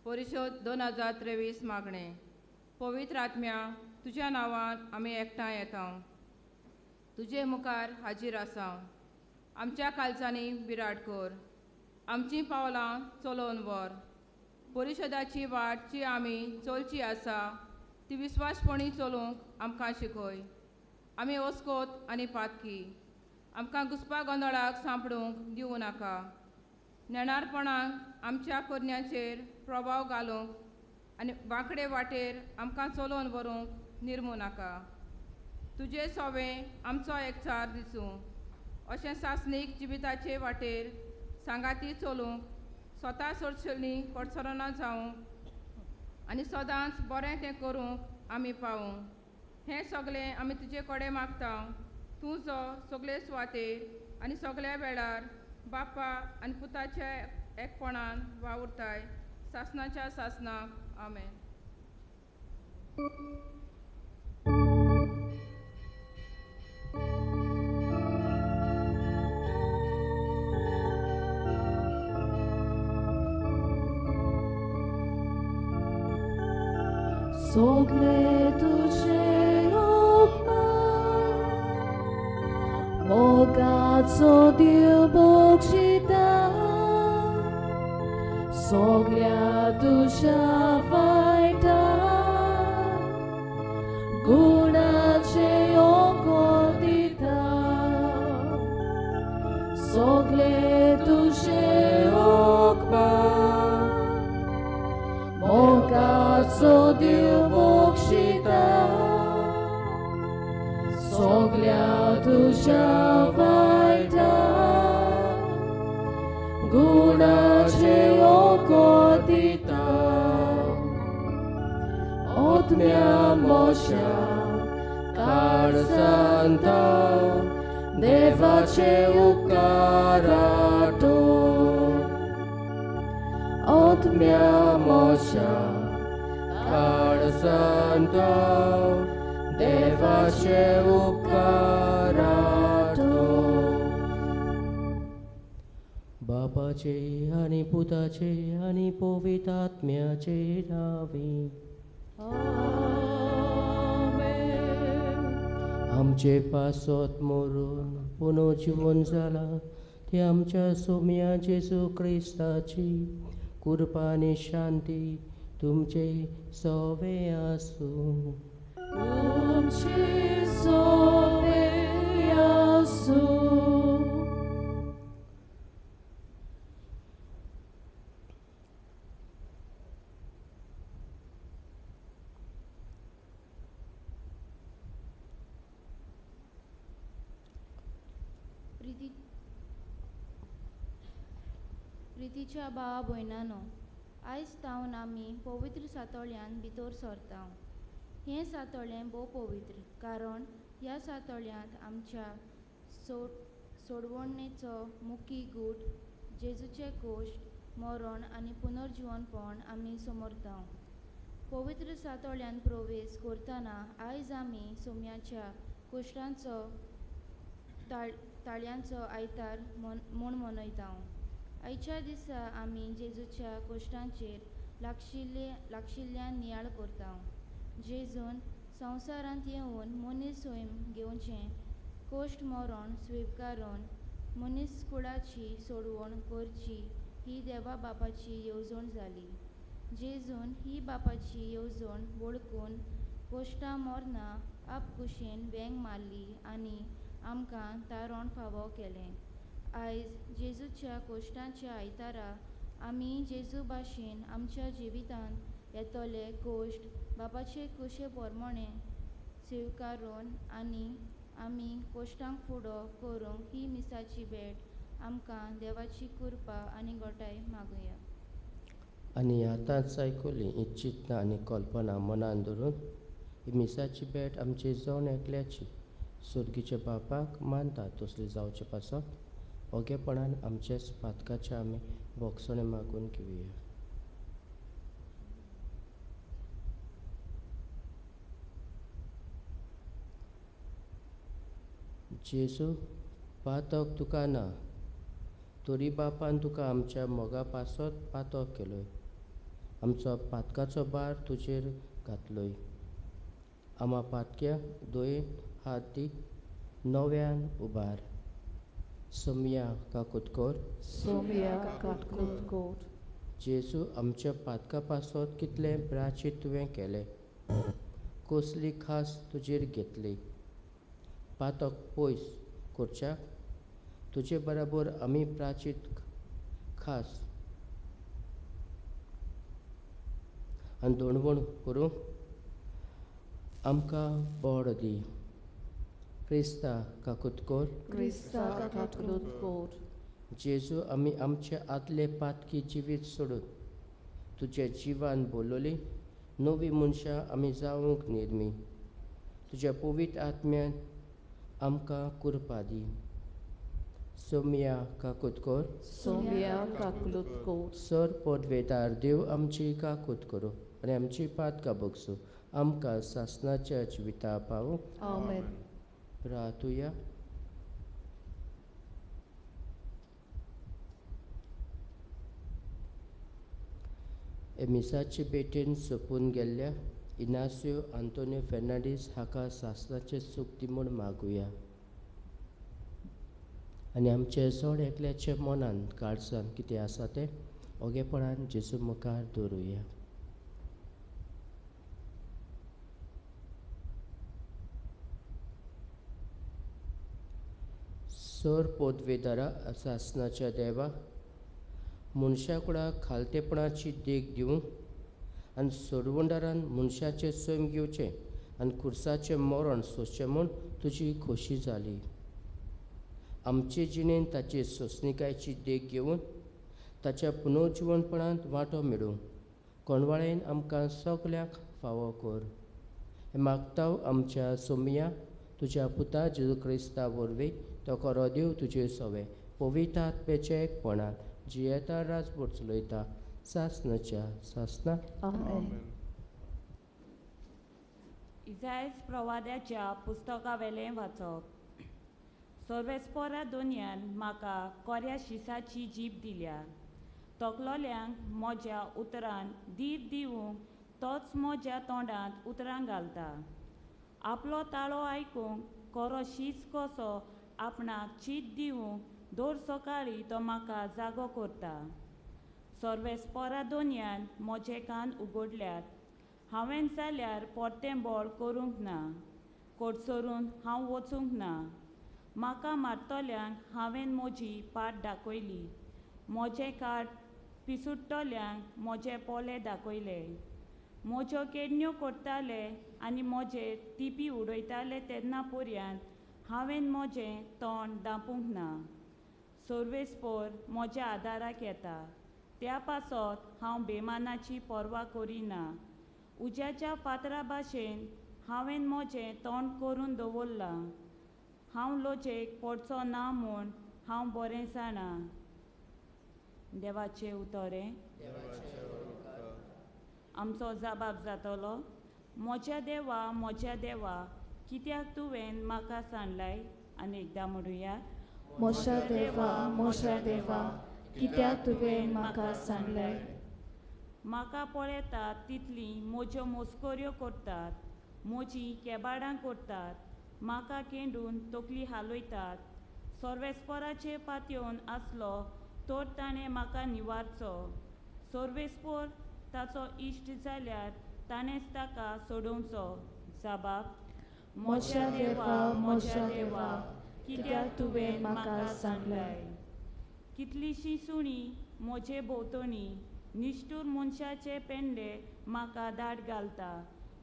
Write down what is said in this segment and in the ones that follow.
परिशोद 2023 मागणें. पवित्र आत्म्या, तुज्या नांवान आमी एकठांय येता, तुजे मुखार हाजीर आसा. आमच्या कालचांनी विराट कर, आमचीं पावलां चलोवन व्हर. परिशदाची वाट जी आमी चलची आसा ती विस्वासपणी चलूंक आमकां शिकय. आमी ओस्कोत आनी पातकी, आमकां घुसपा गोंदळाक सांपडूंक दिवं नाका. नेणारपणाक आमच्या करण्याचेर प्रभाव घालूंक आनी वांकडे वाटेर आमकां चलोवन व्हरूंक निर्मू नाका. तुजे सोवें आमचो एकचार दिसूं, अशें सासणीक जिविताचे वाटेर सांगाती चलूंक, स्वता सोडशेली कडसरना जावंक आनी सदांच बरें तें करूंक आमी पावूं. हें सगळें आमी तुजे कडेन मागता, तूं जो सगळे सुवातेर आनी सगळ्या वेळार बापा आनी पुताच्या एकपणान वावुरताय, सासणाच्या सासणाक. आमेन. सगळे तुझे उपकार मोगाचो देव बक्षिता, सगळ्या तुज्या वायटा गुणाचे योगो दिता. सगळे तुझे उपकार मोगाचो देव बक्षिता, सगळ्या तुज्या वायटा गुणाचे योगो दिता. आत्म्या मोशा काळजांत देवाचे उपकार आठोवन, आत्म्या मोशा काळजांत देवाचे उपकार आठोवन. बापाचे आनी पुताचे आनी पवित्र आत्म्याचे नांवे. आमचे पासत मरून पुनर्जीवन जाला ते आमच्या सोम्या जेजू क्रिस्ताची कृपा आनी शांती तुमचे सवे आसूं. तुमचे सवे आसूं. प्रितीच्या भावा भयणानो, आयज तावन आमी पवित्र सातोळ्यान भितर सरता. हें सातोळें भोव पवित्र, कारण ह्या सातोळ्यांत आमच्या सोडवणेचो मुखी गूट जेजूचे कोश्ट, मरण आनी पुनर्जिवनपण आमी समरता. पवित्र सातोळ्यान प्रवेश करतना आयज आमी सोम्याच्या कोश्टांचो ताळयांचो आयतार म्हूण मनयता. आयच्या दिसा आमी जेजूच्या कोश्टांचेर लागशिल्ल्यान नियाळ करता. जेजून संवसारांत येवन मनीस स्वयं घेवचें कोश्ट मरण स्विकारून मनीस कुळाची सोडवण करची ही देवा बापाची येवजण जाली. जेजून ही बापाची येवजण वळखून कोश्टां मरणां आपकुशेन वेंग मारली आनी आमकां तारण फावो केलें. आयज जेजूच्या कोश्टांच्या आयतारा आमी जेजू भाशेन आमच्या जिवितांत येतले कोश्ट बापाचे कुशे प्रमाणे स्विकारून आनी आमी कोश्टांक फुडो करूंक ही मिसाची भेट आमकां देवाची कृपा आनी गोटाय मागुया. आनी आतांच आयकुली इच्छितना आनी कल्पना मनान धरून ही मिसाची भेट आमची जण एकल्याची सुर्गीच्या बापाक मानता तसली जावचे पासत ओगेपणान आमचेच पातकाचे आमी भोगसणे मागून घेवया. जेजू, पातक तुका ना, तरी बापान तुका आमच्या मोगा पासत पातक केलोय. आमचो पातकाचो भार तुजेर घातलोय. आमा पातक्या दोय हात दी नव्यान उबार. सोमया काकुतकोर. सोमया काकुतकोर. जेजू आमच्या पातका पासत कितलें प्राचीत तुवें केलें, कसली खास तुजेर घेतली. पातक पयस करच्याक तुजे बराबर आमी प्राचीत खास आनी दोणवण करूंक आमकां बळ दी. क्रिस्ता काकुतकोर. क्रिस्ता काकुतकोर. जेजू आमी आमचे आदले पातकी जिवीत सोडून तुज्या जिवान बोलवली नवी मनशां आमी जावंक निर्मी. तुज्या पवित्र आत्म्यान आमकां कृपा दी. सोमया काकुतकोर. सोमया काकुतकोर. सर पदवेदार देव आमची काकूत करूं आनी आमची पातकां बगसूं, आमकां सासणाच्या जिविता पावूं. आमेन. प्रार्थुया. मिसाचे भेटेन सोंपून गेल्ल्या इनासियो आंतोनियो फेर्नांडीस हाका सासणाचें सूख दी म्हूण मागुया आनी आमचे जोड एकल्याच्या मनान काळजान कितें आसा तें ओगेपणान जेजू मुखार दवरुया. सर पोदवेदारा सासणाच्या देवा, मनशाकुडाक खालतेपणाची देख दिवंक आनी सोडवणदारान मनशाचें सैम घेवचें आनी खुर्साचें मरण सोंसचें म्हूण तुजी खोशी जाली. आमचे जिणेन ताचे सोंसणिकायेची देख घेवन ताच्या पुनर्जिवनपणांत वांटो मेळूं कोणवाळेन आमकां सगल्यांक फावो कर. हें मागता आमच्या सोमया तुज्या पुता जेजू क्रिस्ता वरवीं तो खरो देव तुजे सवे पवित्र आत्म्याच्या एकपणान जियेता राजभर चलयता सासणाच्या सासणा. आमेन. इजायज प्रवाद्याच्या पुस्तकावेलें वाचप. सर्वेस्पोरा दोनयान म्हाका कोऱ्या शिसाची जीब दिल्या, तकलोल्यांक म्हज्या उतरान धीर दिवंक तोच म्हज्या तोंडांत उतरां घालता. आपलो ताळो आयकूंक कोरो शीस कसो आपणाक चीत दिवंक दर सकाळीं तो म्हाका जागो करता. सर्वेस्पोरा दोनयान म्हजे कान उगडल्यात, हांवें जाल्यार परतें बळ करूंक ना, कोटसरून हांव वचूंक ना. म्हाका मारतल्यांक हांवें म्हजी पाट दाखयली, म्हजें काट पिसुडटल्यांक म्हजे पोले दाखयले. म्हज्यो केडण्यो करताले आनी म्हजेर तिपी उडयताले तेन्ना पर्यंत हांवें म्हजें तोंड दांपूंक ना. सर्वेस्पोर म्हज्या आदाराक येता, त्या पासत हांव बेमानाची पर्वा करिना. उज्याच्या फातरा भाशेन हांवें म्हजें तोंड करून दवरलां, हांव लजेक पडचो ना म्हूण हांव बरें जाणा. देवाचें उतरें आमचो जबाब जातलो. म्हज्या देवा, म्हज्या देवा, कित्याक तुवें म्हाका सांडलाय? आनी एकदां म्हणुया. म्हज्या देवा, म्हज्या देवा, कित्याक तुवें म्हाका सांडलाय? म्हाका पळयतात तितलीं म्हज्यो मस्कऱ्यो करतात, म्हजीं केबाडां करतात, म्हाका केंडून तकली हालयतात. सर्वेस्पोराचेर पातयेवन आसलो तर ताणें म्हाका निवारचो, सर्वेस्पोर ताचो इश्ट जाल्यार ताणेंच ताका सोडोवचो. जबाब. म्हज्या देवा, म्हज्या देवा, कित्याक तुवें म्हाका सांडलाय? कितलींशीं सुणीं म्हजे भोंवतणी, निश्ठूर मनशाचे पेंडे म्हाका दाट घालता.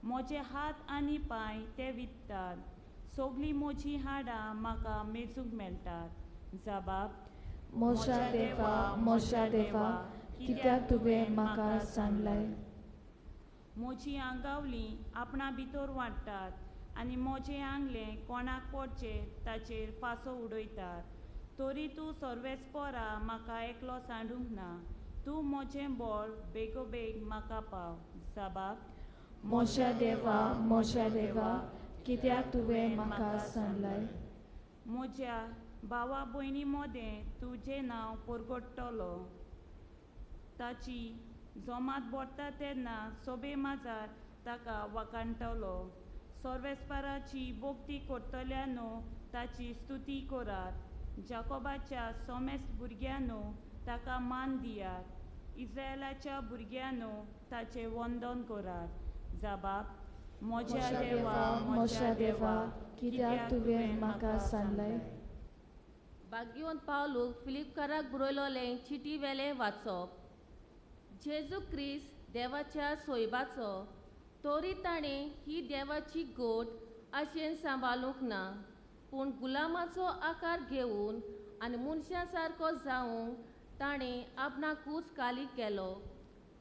म्हजे हात आनी पांय ते विकतात, सगळीं म्हजीं हाडां म्हाका मेजूंक मेळटात. जबाब. म्हज्या देवा, म्हज्या देवा, कित्याक तुवें म्हाका सांडलाय? म्हजीं आंगावलीं आपणा भितर वांट्टात आनी म्हजें आंगलें कोणाक पडचें ताचेर फांसो उडयतात. तरी तूं सर्वेस्पोरा म्हाका एकलो सांडूंक ना, तूं म्हजें बळ बेगोबेग म्हाका पाव. जबाब. म्हज्या देवा, म्हज्या देवा, कित्याक तुवें म्हाका सांडलाय? म्हज्या भावा भयणी मदें तुजें नांव परगट्टलो, ताची जोमात बोडटा तेन्ना सोबे माजार ताका वाकाणटलो. सर्वेस्पराची भोक्ती करतल्यानो ताची स्तुती करात. जाकोबाच्या सोमेस्त भुरग्यांनो ताका मान दियात. इस्रायलाच्या भुरग्यांनो ताचें वंदन करात. जाबाब, म्हज्या देवा, म्हज्या देवा, कित्याक तुवें म्हाका सांगलें? भाग्यवंत पावलूक फिलिपकाराक बरयलोलें चिटी वेलें वाचप. जेजू क्रिस्त देवाच्या सोयबाचो, तरी ताणें ही देवाची गोट आशेन सांबाळूंक ना, पूण गुलामाचो आकार घेवन आनी मनशां सारको जावंक ताणें आपणाकूच काली केलो.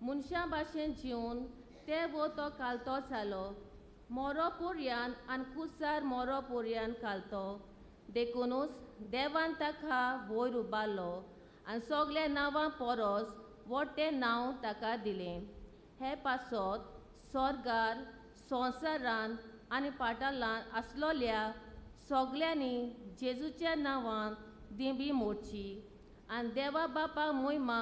मनशां भाशेन जिवन ते वो तो कालतो जालो, मोरो पोरयान आनी कुसार मोरो पोरयान कालतो. देखुनूच देवान ताका वयर उबारलो आनी सगल्या नांवां परस व्हडलें नांव ताका दिलें. हे पासत स्वर्गार, संवसारान आनी पाटालान आसलोल्या सगल्यांनी जेजूच्या नांवान दिंबी मोडची आनी देवा बापा मोहिमा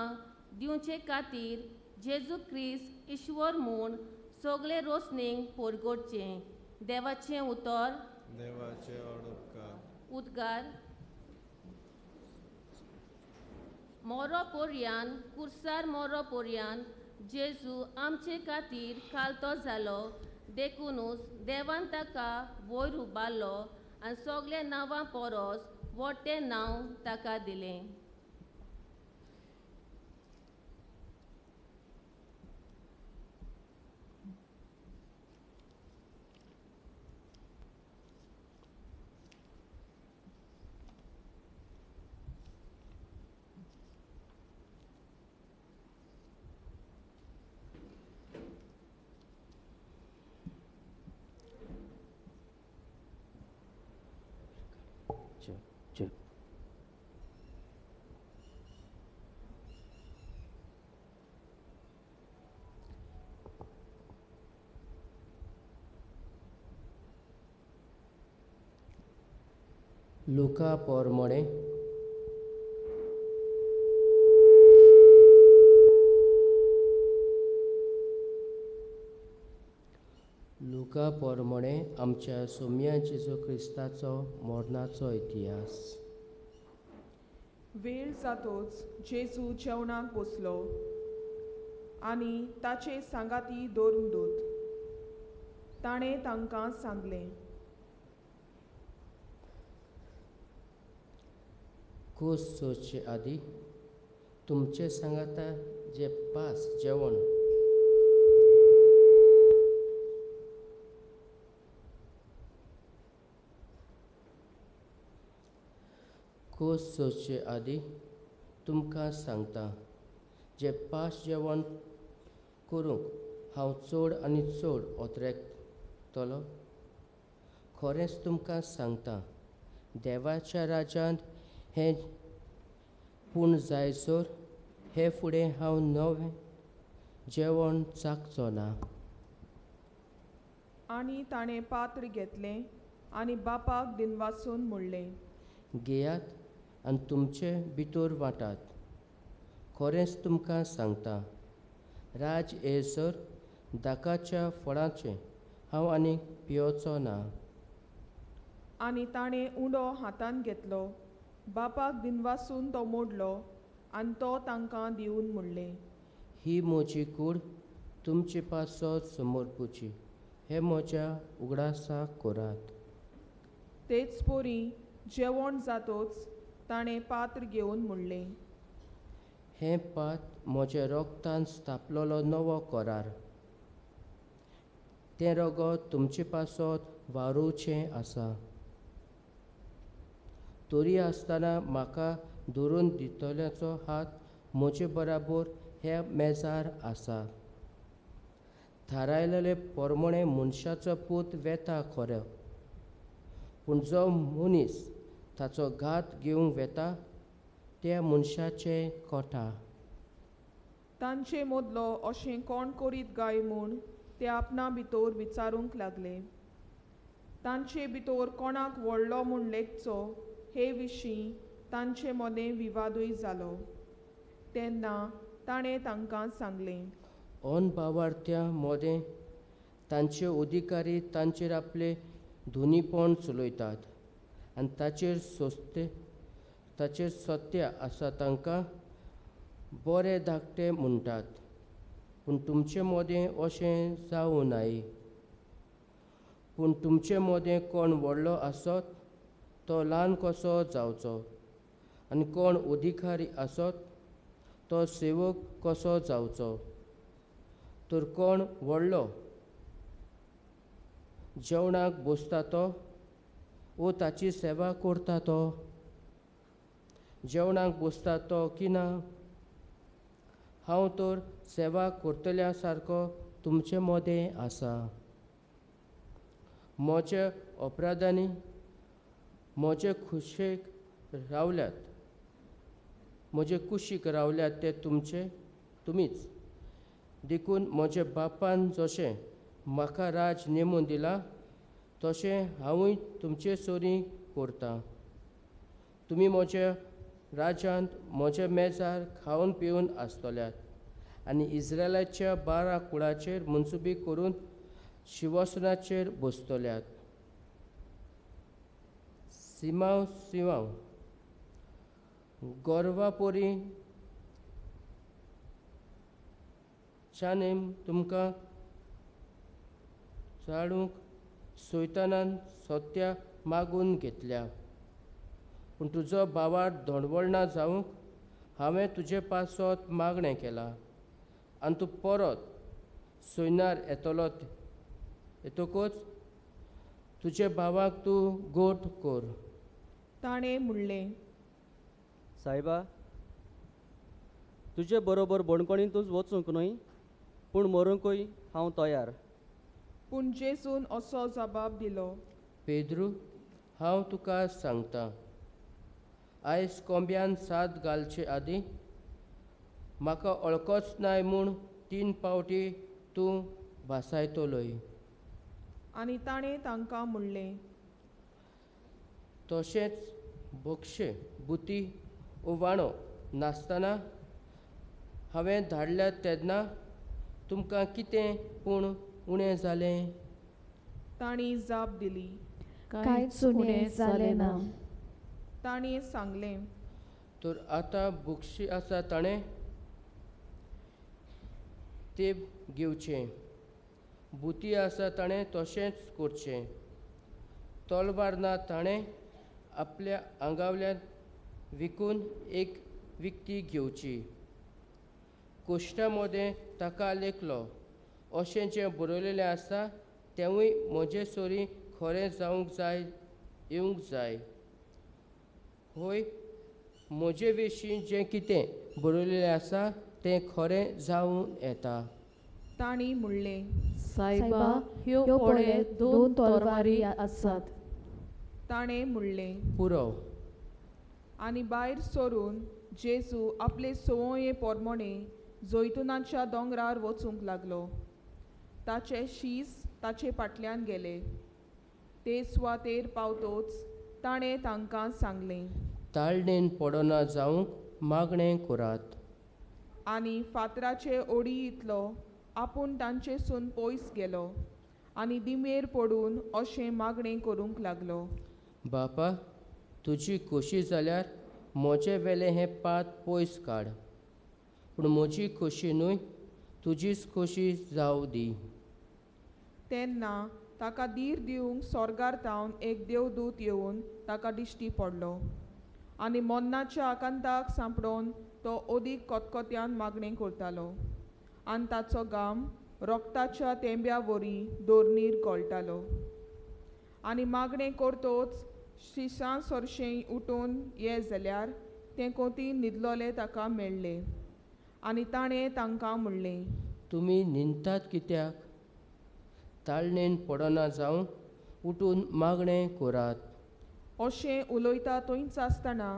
दिवचे खातीर जेजू क्रिस्त ईश्वर म्हूण सगळे रोसणेक परगटचें. देवाचें उतर. देवाचे उपकार. उद्गार. मोरो पोरयान कुर्सार मोरो पोरयान जेजू आमचे खातीर कालतो जालो, देखुनूच देवान ताका वयर उबारलो आनी सगल्या नांवां परस व्हडलें नांव ताका दिलें. लुका पोरमोणे लुका पोरमोणे आमच्या सोम्या जेजू क्रिस्ताचो मरणाचो इतिहास. वेळ जातोच जेजू जेवणाक बसलो आनी ताचे सांगाती धर्मदूत. ताणें तांकां सांगलें, खोस सोदचे आदी तुमचे सांगाता जे पास जेवण खोस सोदचे आदी तुमकां सांगता जे पास जेवण करूंक हांव चड आनी चड ओतरेकतलो. खरेंच तुमकां सांगता, देवाच्या राज्यांत हें पूण जायसर हे फुडें हांव नवें जेवण चाखचो ना. आनी ताणें पात्र घेतलें आनी बापाक दिनवासून म्हणलें, घेयात आनी तुमचे भितर वांटात. खरेंच तुमकां सांगता, राज येयसर दाकाच्या फळाचें हांव आनीक पियोचो ना. आनी ताणें उंडो हातान घेतलो, बापाक दिनवासून तो मोडलो आनी तो तांकां दिवन म्हणलें, ही म्हजी कूड तुमचे पासत समर्पुची, हे म्हज्या उगडासाक करात. तेच परी जेवण जातोच ताणें पात्र घेवन म्हणलें, हें पात्र म्हज्या रोगतान स्थापलोलो नवो करार, तें रगत तुमचे पासत वारोवचें आसा. तरी आसतना म्हाका धरून दितल्याचो हात म्हजे बराबर ह्या मेजार आसा. थारायलेले पोरमोणे मनशाचो पूत वेता खरो, पूण जो मनीस ताचो घात घेवंक वेता त्या मनशाचें कोटा. तांचे मदलो अशें कोण करीत काय म्हूण ते आपणा भितर विचारूंक लागले. तांचे भितर कोणाक व्हडलो म्हूण लेखचो हे विशीं तांचे मदें विवादूय जालो. तेन्ना ताणें तांकां सांगलें, अनभावार्थ्यां मोदें तांचे अधिकारी तांचेर आपले धुनीपण चलयतात आनी ताचेर सत्य आसा तांकां बरे धाकटे म्हणटात. पूण तुमचे मदें अशें जावं नाय. पूण तुमचे मदें कोण व्हडलो आसत तो ल्हान कसो जावचो आनी कोण अधिकारी आसत तो सेवक कसो जावचो. तर कोण व्हडलो, जेवणाक बसता तो वो ताची सेवा करता तो? जेवणाक बसता तो की ना? हांव तर सेवा करतल्या सारको तुमचे मदें आसा. म्हज्या अपराधांनी म्हजे खुशेक रावल्यात, म्हजे कुशीक रावल्यात ते तुमचे तुमीच. देखून म्हज्या बापान जशें म्हाका राज नेमून दिला तशें हांवूय तुमचे सरीं करतां. तुमी म्हज्या राज्यांत म्हज्या मेजार खावन पिवन आसतल्यात आनी इस्रायलाच्या 12 कुळाचेर मनसुबी करून शिवसनाचेर बसतल्यात. सिमांव सिमांव गोरवापोरी चानेम तुमकां चाळूंक सैतानान सत्या मागून घेतल्या. पूण तुजो भावार धोणवळना जावंक हांवें तुजे पासत मागणें केलां आनी तूं परत सोयनार येतलो येतकूच तुजे भावाक तूं गोट कर. ताणें म्हणलें, सायबा, तुजे बरोबर बणकणींतूच वचूंक न्हय, पूण मरूंकूय हांव तयार. पूण जेजून असो जबाब दिलो, पेद्रू, हांव तुका सांगता, आयज कोंब्यान साद घालचे आदीं म्हाका वळखोच नाय म्हूण 3 फावटी तूं भासायतलोय. आनी ताणें तांकां म्हणलें, तशेंच बक्षे बुती उवाणो नासतना हांवें धाडल्यात तेन्ना तुमकां कितें पूण उणें जालें? तांणी जाप दिली, कांयच उणें जालें ना. ताणें सांगलें, तर आतां बक्षी आसा ताणें तें घेवचें, बुती आसा ताणें तशेंच करचें, तलवार ना ताणें आपल्या आंगावल्यान विकून एक विकती घेवची. कोश्टा मदें ताका लेखलो अशें जें बरयलेलें आसा तेंवूय म्हजे सरीं खरें जावंक जाय येवंक जाय. होय, म्हजे विशीं जें कितें बरयलेलें आसा तें खरें जावन येता. तांणी म्हणलें, सायबा, ह्यो पळय 2 तलवारी आसात. ताणें म्हणलें, पुरो. आनी भायर सरून जेजू आपले संवये पोरमोणे जैतुनाच्या दोंगरार वचूंक लागलो. ताचे शीस ताचे फाटल्यान गेले. ते सुवातेर पावतोच ताणें तांकां सांगलें, ताळणेन पडना जावंक मागणें करात. आनी फातराचे ओडी इतलो आपूण तांचेसून पयस गेलो आनी दिमेर पडून अशें मागणें करूंक लागलो, बापा, तुजी खोशी जाल्यार म्हजे वेलें हें पात पयस काड, पूण म्हजी खोशी न्हय तुजीच खोशी जावं दी. तेन्ना ताका धीर दिवंक सोर्गार तावन एक देवदूत येवन ताका दिश्टी पडलो आनी मरणाच्या आकांताक सांपडोवन तो अदीक कोतकोत्यान मागणें करतालो आनी ताचो घाम रोगताच्या तेंब्या वरी दोरणीर गळटालो. आनी मागणें करतोच शिशां सरशें उठून ये जाल्यार तें कोती न्हिदलोले ताका मेळ्ळें आनी ताणें तांकां म्हणलें, तुमी न्हिदतात कित्याक? ताळणेन पडना जावन उठून मागणें करात. अशें उलयता थंयच आसतना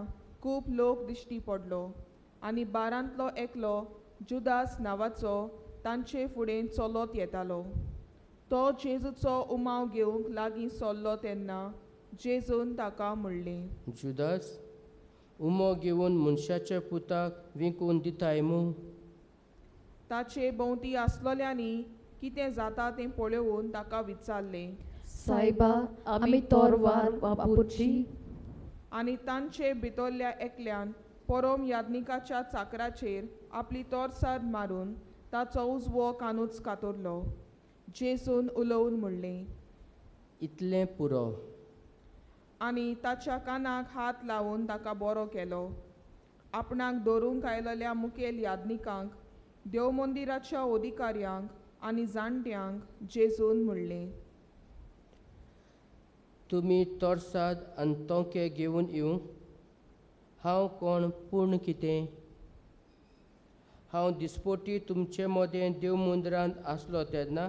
खूब लोक दिश्टी पडलो आनी बारांतलो एकलो जुदास नांवाचो तांचे फुडें चलत येतालो. तो जेजूचो उमाव घेवंक लागीं सरलो तेन्ना जेजून ताका म्हणलें, जुदास, उमो घेवन मनशाच्या पुताक विकून दिताय मू? ताचे भोंवती आसलोल्यांनी कितें जाता तें पळोवन ताका विचारलें, सायबा, आमी तोरवार वापुरची? आनी तांचे भितरल्या एकल्यान परोम याज्ञिकाच्या चाकराचेर आपली तोरसार मारून ताचो उजवो कानूच कातरलो. जेजून उलोवन म्हणलें, इतलें पुरो. आनी ताच्या कानाक हात लावन ताका बरो केलो. आपणाक धरूंक आयलेल्या मुखेल याज्ञिकांक, देवमंदिराच्या अधिकाऱ्यांक आनी जाणट्यांक जेजून म्हणलें, तुमी तोरसाद आनी तोंके घेवन येवंक हांव कोण पूर्ण कितें? हांव दिसपोटी तुमचे मदें देव मुंदरांत आसलो तेन्ना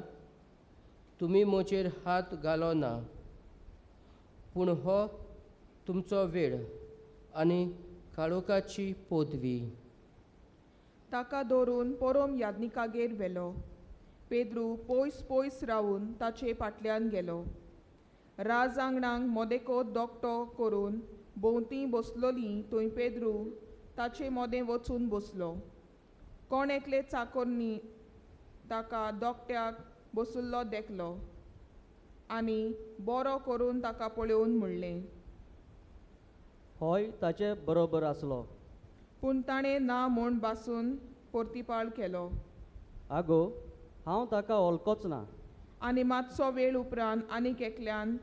तुमी म्हजेर हात घालो ना, पूण हो तुमचो वेळ आनी काळोखाची पदवी. ताका धरून परोम याज्ञिकागेर व्हेलो. पेद्रू पयस पयस रावून ताचे फाटल्यान गेलो. राज आंगणाक मोदेको दोकटो करून भोंवती बसलोली थंय पेद्रू ताचे मोदें वचून बसलो. कोण एकले चाकोरनी ताका दोकट्याक बसुल्लो देखलो आनी बरो करून ताका पळोवन म्हणलें, होय ताचे बरोबर आसलो. पूण ताणें ना म्हूण बासून परतिपाळ केलो. आगो, हांव ताका वळखोच ना. आनी मातसो वेळ उपरांत आनीक एकल्यान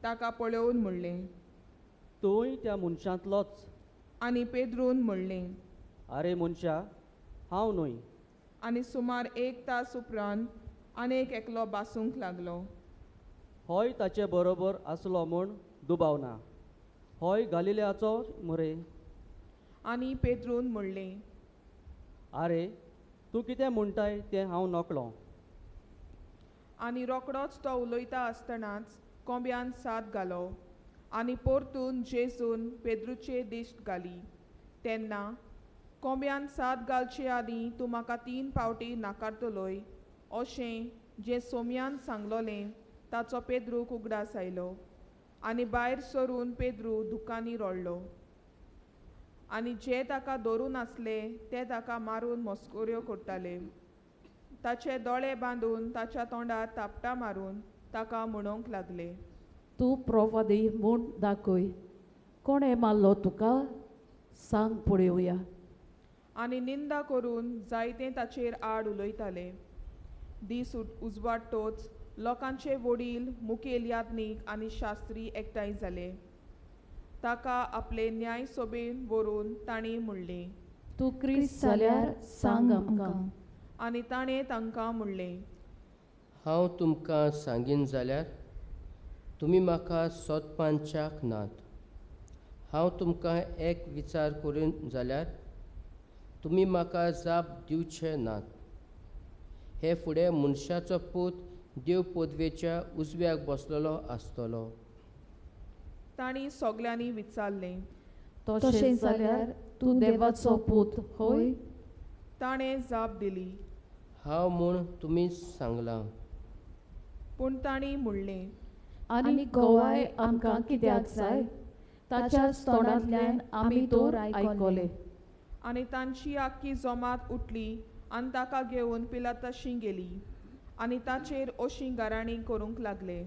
ताका पळोवन म्हणलें, तूंय त्या मनशांतलोच. आनी पेद्रून म्हणलें, आरे मनशा, हांव न्हय. आनी सुमार एक तास उपरांत आनीक एकलो बासूंक लागलो. होय ताचे बरोबर आसलो म्हूण दुबाव ना, होय गालिलियाचो मरे. आनी पेद्रून म्हणलें, आरे तूं कितें म्हणटाय तें हांव नकळो. आनी रोकडोच तो उलयता आसतनाच कोंब्यान साद घालो आनी परतून जेजून पेद्रूचे दिश्ट घाली. तेन्ना कोंब्यान साद घालचे आदीं तूं म्हाका 3 फावटी नाकारतलोय अशें जें सोम्यान सांगलोलें ताचो पेद्रूक उगडास आयलो. आनी भायर सरून पेद्रू दुकांनी रडलो. आनी जे ताका धरून आसले ते ताका मारून मस्कऱ्यो करताले. ताचे दोळे बांदून ताच्या तोंडार थापटां मारून ताका म्हणूंक लागले, तूं प्रोवादी म्हूण दाखय, कोणें मारलो तुका सांग पळोवया. आनी निंदा करून जायते ताचेर आड उलयताले. दीस उजवाडटोच लोकांचे वडील, मुखेल याज्ञीक आनी शास्त्री एकठांय जाले. ताका आपले न्याय सभेन व्हरून तांणी म्हणलें, तूं क्रिस्त जाल्यार सांग आमकां. आनी ताणें तांकां म्हणलें, हांव तुमकां सांगीन जाल्यार तुमी म्हाका सोदपांच्याक नात. हांव तुमकां एक विचार करून जाल्यार तुमी म्हाका जाप दिवचे नात. हे फुडें मनशाचो पूत देव पदवेच्या उजव्याक बसलेलो आसतलो. तांणी सगल्यांनी विचारलें, तशें जाल्यार तूं देवाचो पूत होय? ताणें जाप दिली, हांव म्हूण तुमी सांगलां. पूण तांणी म्हणलें, आनी गोवाय आमकां कित्याक जाय? ताच्याच तोंडांतल्यान आमी तर आयकलें. आनी तांची आख्खी जमात उठली आनी ताका घेवन पिलाताशी गेली आनी ताचेर अशी गाराणी करूंक लागले,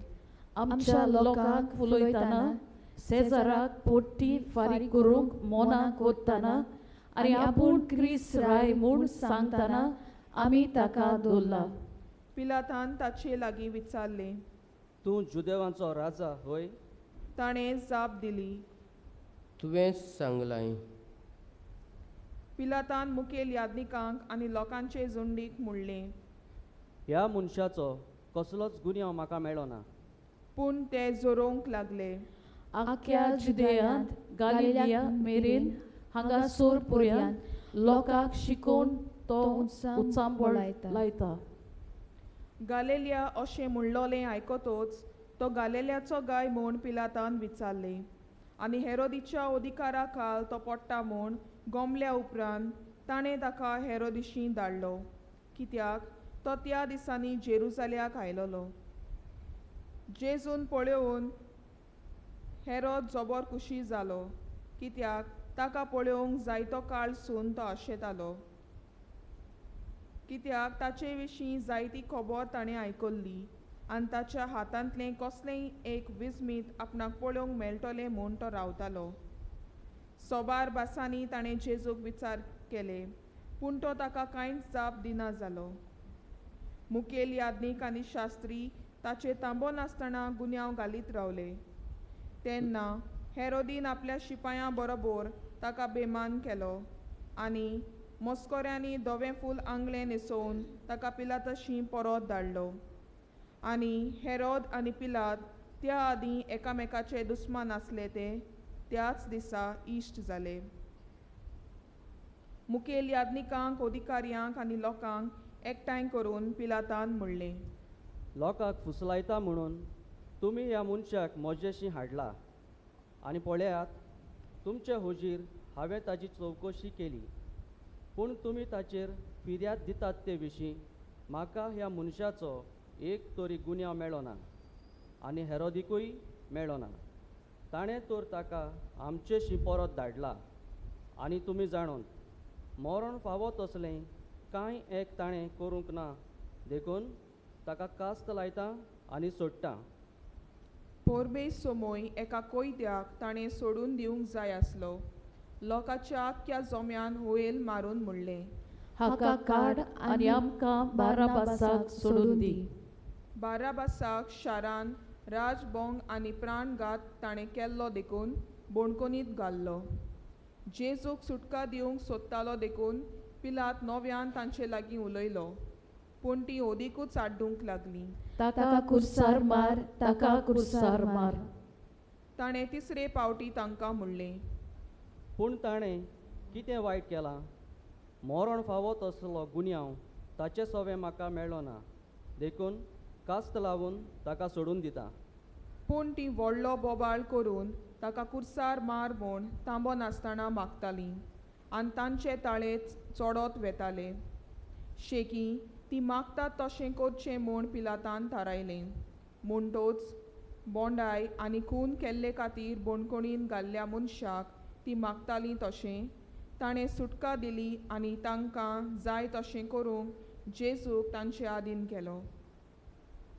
आमच्या लोकांक फुलयतना, सेजाराक पोट्टी फारीक करूंक मोना कोत्तना आनी आपूण क्रिस्त राय म्हूण सांगतना आमी ताका दवरला. पिलातान ताचे लागीं विचारलें, तूं जुदेवांचो राजा होय? ताणें जाप दिली, तुवें सांगलां. पिलातान मुखेल याज्ञिकांक आनी लोकांचे झुंडीक म्हणलें, ह्या मनशाचो कसलोच गुन्यांव म्हाका मेळना. पूण ते जोरोवंक लागले. आख्या जुदेयांत, गालिलिया मेरेन हांगासर पुर्यांत लोकांक शिकोवन तो उचांबळ लायता. गालेलिया अशें म्हणलोलें आयकतोच तो गालेल्याचो गाय म्हूण पिलातान विचारलें. आनी हेरोदीच्या अधिकारा खाल तो पडटा म्हूण गोमल्या उपरांत ताणें ताका हेरोदिशी धाडलो, कित्याक तो त्या दिसांनी जेरुजाल्याक आयलोलो. जेजून पळोवन हेरोद जबर खुशी जालो, कित्याक ताका पळोवंक जायतो काळ सून तो आशेतालो. कित्याक ताचे विशीं जायती खबर ताणें आयकल्ली आनी ताच्या हातांतलें कसलेंय एक विस्मीत आपणाक पळोवंक मेळटलें म्हूण तो रावतालो. सोबार भासांनी ताणें जेजूक विचार केले, पूण तो ताका कांयच जाप दिना जालो. मुखेल याज्ञीक आनी शास्त्री ताचे तांबो नासतना गुन्यांव घालीत रावले. तेन्ना हेरोदीन आपल्या शिपायां बरोबर ताका बेमान केलो आनी मस्कोऱ्यांनी धवें फूल आंगलें न्हेसोवन ताका पिलातशी परत धाडलो. आनी हेरोद आनी पिलात त्या आदीं एकामेकाचे दुस्मान आसले ते त्याच दिसा इश्ट जाले. मुखेल याज्ञिकांक, अधिकाऱ्यांक आनी लोकांक एकठांय करून पिलातान म्हणलें, लोकांक फुसलायता म्हणून तुमी ह्या मनशाक म्हजेशी हाडला आनी पळयात, तुमचे हुजीर हांवें ताची चवकशी केली, पूण तुमी ताचेर फिर्याद दितात ते विशीं म्हाका ह्या मनशाचो एक तरी गुन्यांव मेळ्ळो ना आनी हेरोदिकूय मेळ्ळो ना. ताणें तर ताका आमचेशी परत धाडला आनी तुमी जाणून मरण फावो तसलें कांय एक ताणें करूंक ना, देखून ताका कास्त लायता आनी सोडटा. पोरबे सोमोय एका कोयत्याक ताणें सोडून दिवंक जाय आसलो. लोकांच्या आख्ख्या जोम्यान हुयेल मारून म्हणलें, हाका काड आनी आमकां बाराबासाक सोडून दी. बाराबासाक शारान राजबोंग आनी प्राणघात ताणें केल्लो देखून बोणकोनीत घाल्लो. जेजूक सुटका दिवंक सोदतालो देखून पिलात नव्यान तांचे लागीं उलयलो, पूण ती ओदीकूच आड्डूंक लागली, ताका कुर्सार मार, ताका कुर्सार मार. ताणें तिसरे पावटी तांकां म्हणलें, पूण ताणें कितें वायट केलां? मरण फावो तसलो गुन्यांव ताचे सवें म्हाका मेळ्ळो ना, देखून कास्त लावन ताका सोडून दिता. पूण ती व्हडलो बोबाळ करून ताका कुर्सार मार म्हूण तांबो नासतना मागतालीं आनी तांचे ताळे चडत वेताले. शेकी ती मागतात तशें करचें म्हूण पिलातान थारायलें. म्हणटोच बोंडाय आनी खून केल्ले खातीर बोणकोणीन घाल्ल्या मनशाक ती मागतालीं तशें ताणें सुटका दिली आनी तांकां जाय तशें करूंक जेजूक तांचे आदीन केलो.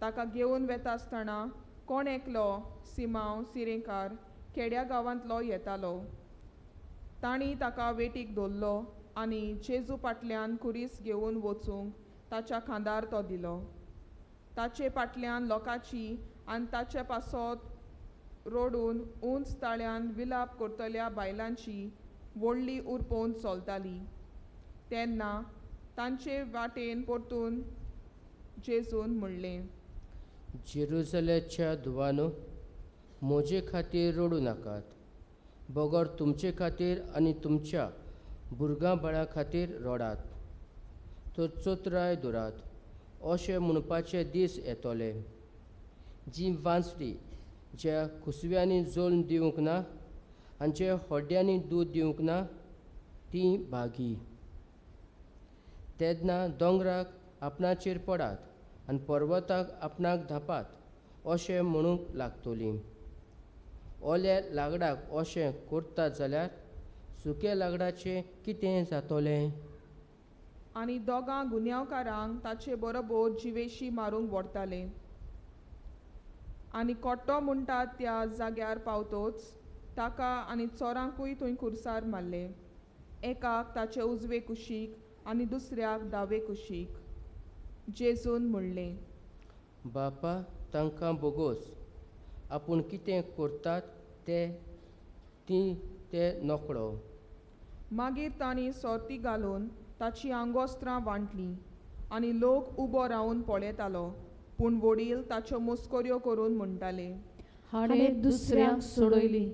ताका घेवन वेता आसतना कोण एकलो सिमांव सिरेकार खेड्या गांवांतलो येतालो. तांणी ताका वेटीक धरलो आनी जेजू फाटल्यान खुरीस घेवन वचूंक ताच्या खांदार तो दिलो. ताचे फाटल्यान लोकांची आनी ताचे पासत रडून उंच ताळ्यान विलाप करतल्या बायलांची व्हडली उरपोवन चलताली. तेन्ना तांचे वाटेन परतून जेजून म्हणलें, जेरुजलेच्या धुवानो, म्हजे खातीर रडूं नाकात, बगर तुमचे खातीर आनी तुमच्या भुरग्यां बाळां खातीर रडात. तर चतुराय धरात, अशें म्हणपाचे दीस येतले, जी वांचली ज्या कुसव्यांनी जल्म दिवंक ना आनी जे हड्ड्यांनी दूद दिवंक ना ती भागी. तेन्ना दोंगराक आपणाचेर पडात आनी पर्वताक आपणाक धापात अशें म्हणूंक लागतलीं. ओल्या लाकडाक अशें करतात जाल्यार सुक्या लाकडाचें कितें जातलें? आनी दोगां गुन्यांवकारांक ताचे बरोबर जिवेशी मारूंक व्हरताले. आनी कोट्टो म्हणटात त्या जाग्यार पावतोच ताका आनी चोरांकूय थंय खुर्सार मारले, एकाक ताचे उजवे कुशीक आनी दुसऱ्याक दावे कुशीक. जेजून म्हणलें, बापा, तांकां बोगोस, आपूण कितें करतात ते ती ते नकळो. मागीर तांणी सोर्ती घालून ताची आंगोस्त्रां वांटलीं आनी लोक उबो रावन पळयतालो, पूण वडील ताच्यो मस्कऱ्यो करून म्हणटाले, हाणें दुसऱ्यांक सोडयली,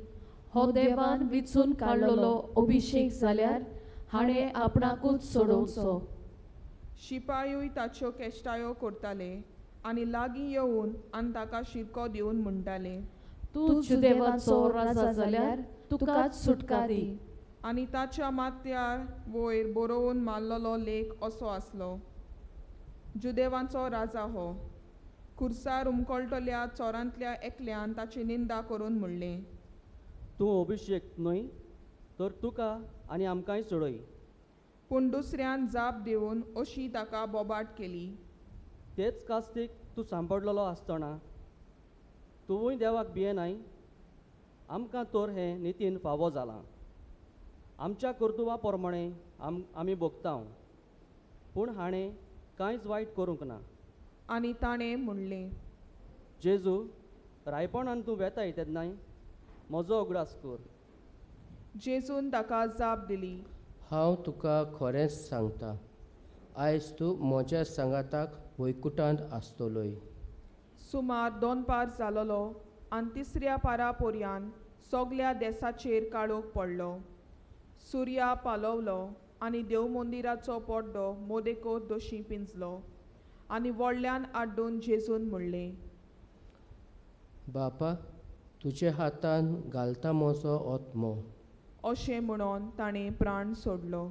हो देवान विचून काडलेलो अभिशेक जाल्यार हाणें आपणाकूच सोडोवचो. शिपायूय ताच्यो केश्टायो करताले आनी लागीं येवन आनी ताका शिरको दिवन म्हणटाले, तूं जुदेवाचो राजा जाल्यार तुकाच सुटका दी. आनी ताच्या माथ्यार वयर बरोवन मारलेलो लेख असो आसलो, जुदेवांचो राजा हो. खुर्सार उमकळटल्या चोरांतल्या एकल्यान ताची निंदा करून म्हणलें, तूं अभिशेक न्हय तर तुका आनी आमकांय सोडय. पूण दुसऱ्यान जाप दिवन अशी ताका बोबाट केली, तेच कास्तीक तूं सांपडलेलो आसतना तुवूय देवाक भियेनाय? आमकां तर हें नितीन फावो जालां, आमच्या कर्तुबा प्रमाणें आमी भोगता, पूण हाणें कांयच वायट करूंक ना. आनी ताणें म्हणलें, जेजू, रायपणान तूं वेताय तेन्नाय म्हजो उगडास कर. जेजून ताका जाप दिली, हांव तुका खरेंच सांगता, आयज तूं म्हज्या सांगाताक वैकुटांत आसतलोय. सुमार 2 पार जालोलो आनी तिसऱ्या पारा पोरयान सगल्या देसाचेर काळोख पडलो. सुर्या पालवलो आनी देवमंदिराचो पड्डो मोदेको दोशी पिंजलो. आनी व्हडल्यान आड्डून जेजून म्हणलें, बापा, तुजे हातान घालता म्हजो आत्मो. अशें म्हणून ताणें प्राण सोडलो.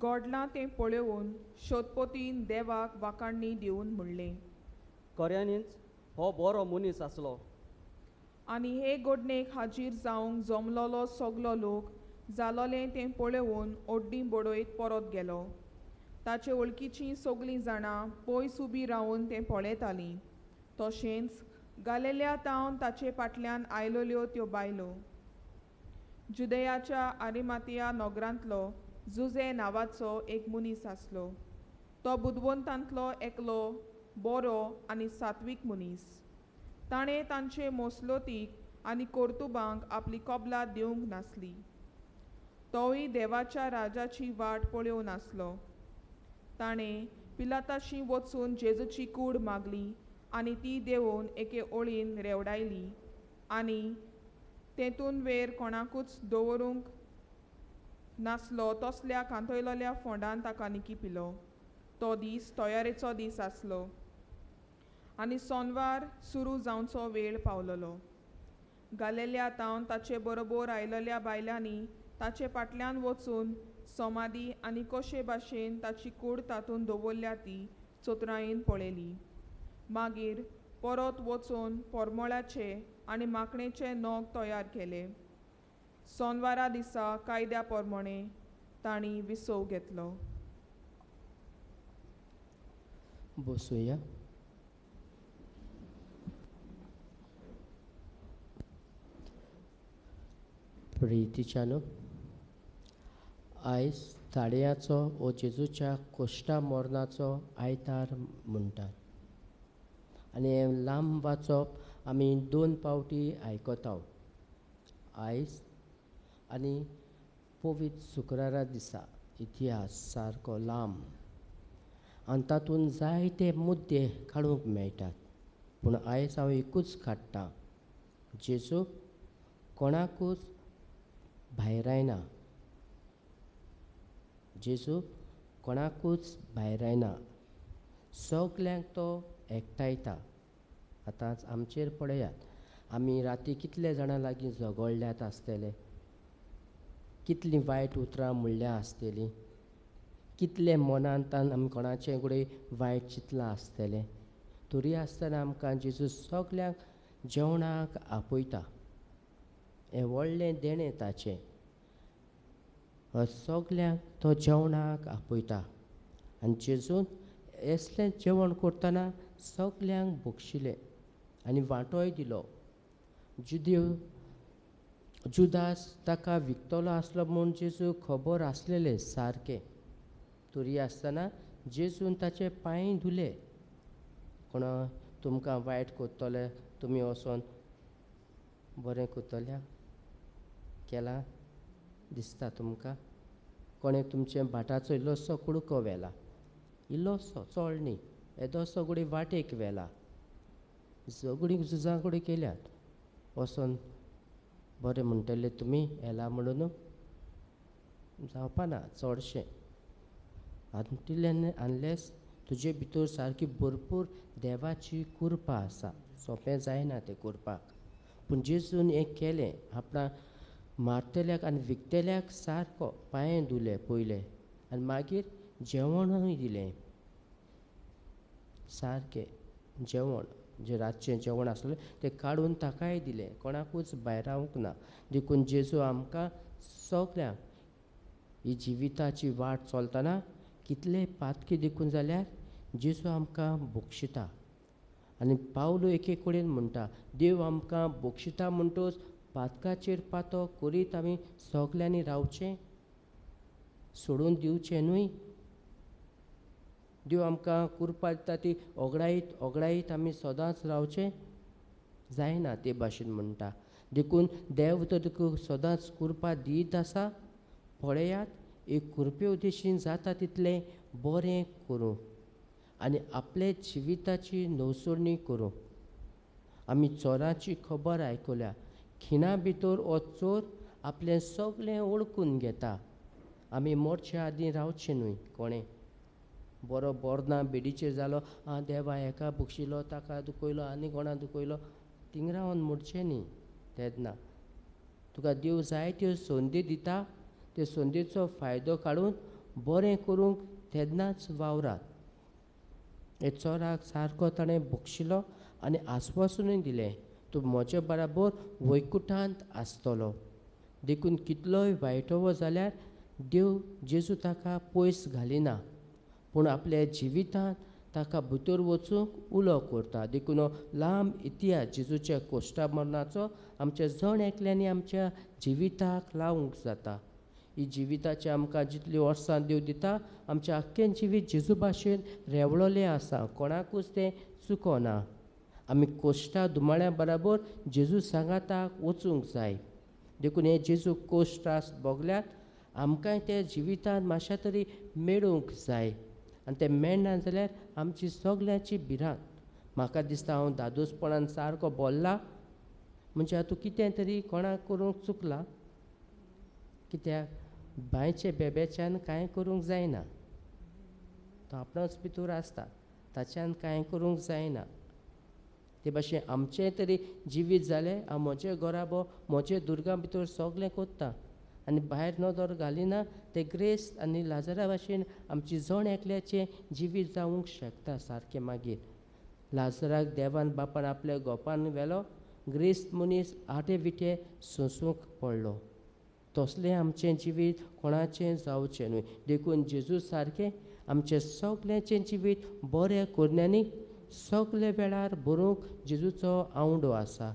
गोडलां तें पळोवन शोधपोतीन देवाक वाखाणणी दिवन म्हणलें, खऱ्यांनीच हो बरो मनीस आसलो. आनी हे गोडणेक हाजीर जावंक जमलोलो सगलो लोक जालोलें तें पळोवन ओड्डी बडयत परत गेलो. ताचे वळखीचीं सगलीं जाणां पयस उबी रावन तें पळयतालीं. तशेंच गालेल्या तावन ताचे फाटल्यान आयलोल्यो त्यो बायलो. जुदयाच्या आरिमातिया नगरांतलो जुजे नांवाचो एक मनीस आसलो. तो बुदवंतांतलो एकलो बरो आनी सात्वीक मनीस. ताणें तांचे मोसलोतीक आनी कर्तुबांक आपली कबलात दिवंक नासली. तोवूय देवाच्या राजाची वाट पळोवन आसलो. ताणें पिलाताशी वचून जेजूची कूड मागली आनी ती देवोवन एके ओळीन रेवडायली आनी तेतून वेर कोणाकूच दवरूंक नासलो तसल्या कांतयलोल्या फोंडान ताका निकी पिलो. तो दीस तयारेचो दीस आसलो आनी सोनवार सुरू जावचो वेळ पावलोलो. गालेल्या तावन ताचे बरोबर आयलोल्या बायलांनी ताचे फाटल्यान वचून समाधी आनी कशे भाशेन ताची कूड तातूंत दवरल्या ती चतुरायेन पळयली. मागीर परत वचून परमळाचे आनी माकणेचे नग तयार केले. सोनवारा दिसा कायद्या प्रमाणे तांणी विसव घेतलो. बसुया. प्रितीच्यानो, आयज ताळयाचो ओ जेजूच्या कोश्टा मरणाचो आयतार म्हणटात आनी हें लांब वाचप आमी 2 पावटी आयकता. आयज आनी पवित्र शुक्रारा दिसा इतिहास सारको लांब आनी तातूंत जायते मुद्दे काडूंक मेळटात, पूण आयज हांव एकूच काडटा, जेजू कोणाकूच भायरायना. जेजू कोणाकूच भायरायना, सगल्यांक तो एकठांयता. आतांच आमचेर पळयात, आमी राती कितले जाणां लागीं झगडल्यात आसतले, कितलीं वायट उतरां म्हणल्या आसतलीं, कितले मनांतान आमी कोणाचें कडेन वायट चिंतलां आसतलें, तरी आसतना आमकां जेजू सगल्यांक जेवणाक आपयता. हें व्हडलें देणें ताचें, सगल्यांक तो जेवणाक आपयता. आनी जेजून असलें जेवण करतना सगल्यांक बक्षिलें आनी वांटोय दिलो. जुदास ताका विकतलो आसलो म्हूण जेजू खबर आसलेलें सारकें, तरी आसतना जेजून ताचे पांय धुले. कोणा तुमकां वायट करतले तुमी वचोन बरें करतल्या केलां दिसता तुमकां? कोणें तुमचें भाटाचो इल्लोसो कुडको व्हेला, इल्लोसो चड न्ही, येदोसो गुडी वाटेक व्हेला, झगडीं झुजां गुडी केल्यात, वचोन बरें म्हणटले तुमी येला म्हणून जावपा ना चडशें. अनलेस तुजे भितर सारकी भरपूर देवाची कृपा आसा, सोंपें जायना तें करपाक. पूण जेजून हें केलें, आपणा मारतल्याक आनी विकतल्याक सारको पांये धुले पयले आनी मागीर जेवणूय दिलें, सारकें जेवण जें रातचें जेवण आसलें तें काडून ताकाय दिलें, कोणाकूच भायरावंक ना. देखून जेजू आमकां सगल्यांक ही जिविताची वाट चलतना कितले पातकी देखून जाल्यार जेजू आमकां बक्षिता. आनी पावलो एके कडेन म्हणटा, देव आमकां बक्षिता म्हणटच पातकाचेर पातो करीत आमी सगल्यांनी रावचें, सोडून दिवचें न्हय. देव आमकां कृपा दिता ती ओगडायत ओगडायत आमी सदांच रावचें जायना ते भाशेन म्हणटा. देखून देव तर तुका सदांच कृपा दीत आसा, पळयात एक कृपे उद्देशीन जाता तितलें बरें करूं आनी आपले जिविताची नवसरणी करूं. आमी चोराची खबर आयकल्या, खिणा भितर हो चोर आपलें सगळें ओळखून घेता. आमी मोरचे आदीं रावचें न्हय. कोणें बरो बोरना बेडीचेर जालो, आं देवा हेका बक्षिलो ताका दुखयलो आनी कोणा दुखयलो, थिंग रावन मोडचें न्ही. तेन्ना तुका देव जाय त्यो संदी दिता, ते संदीचो फायदो काडून बरें करूंक तेन्नाच वावरात. हे चोराक सारको ताणें बक्षिलो आनी आस्वासनूय दिलें, तूं म्हजे बराबर वैकुठांत आसतलो. देखून कितलोय वायटवो जाल्यार देव जेजू ताका पयस घालिना, पूण आपल्या जिवितांत ताका भितर वचूंक उलो करता. देखून हो लांब इतिहास जेजूच्या कोश्टा मरणाचो आमच्या जण एकल्यांनी आमच्या जिविताक लावंक जाता. ही जिविताची आमकां जितली वर्सां देव दिता, आमचें आख्खें जिवीत जेजू भाशेन रेवळोलें आसा, कोणाकूच तें चुकोना. आमी कोश्टा दुमाळ्या बराबर जेजू सांगाताक वचूंक जाय. देखून हे जेजू कोश्ट त्रास भोगल्यात, आमकांय ते जिवितांत मातशें तरी मेळूंक जाय. आनी तें मेळना जाल्यार आमची सगल्यांची भिरांत. म्हाका दिसता हांव दादोसपणान सारको बोल्ला म्हणजे आतां कितें तरी कोणाक करूंक चुकलां, कित्याक बांयचे बेब्याच्यान कांय करूंक जायना, तो आपणाच भितर आसता, ताच्यान कांय करूंक जायना. ते भाशेन आमचें तरी जिवीत जालें, हांव म्हजें घराबो म्हजे दुर्गा भितर सगलें कोत्ता आनी भायर नदर घालिना, ते ग्रेस्त आनी लाजरा भाशेन आमची जण एकल्याचें जिवीत जावंक शकता सारकें. मागीर लाजराक देवान बापान आपल्या गोपान व्हेलो, ग्रेस्त मनीस आटे विटे सोंसूंक पडलो. तसलें आमचें जिवीत कोणाचें जावचें न्हय. देखून जेजू सारकें आमचें सगल्यांचें जिवीत बरें करण्यांनी सगळे वेळार बरोवंक जेजूचो आवडो आसा.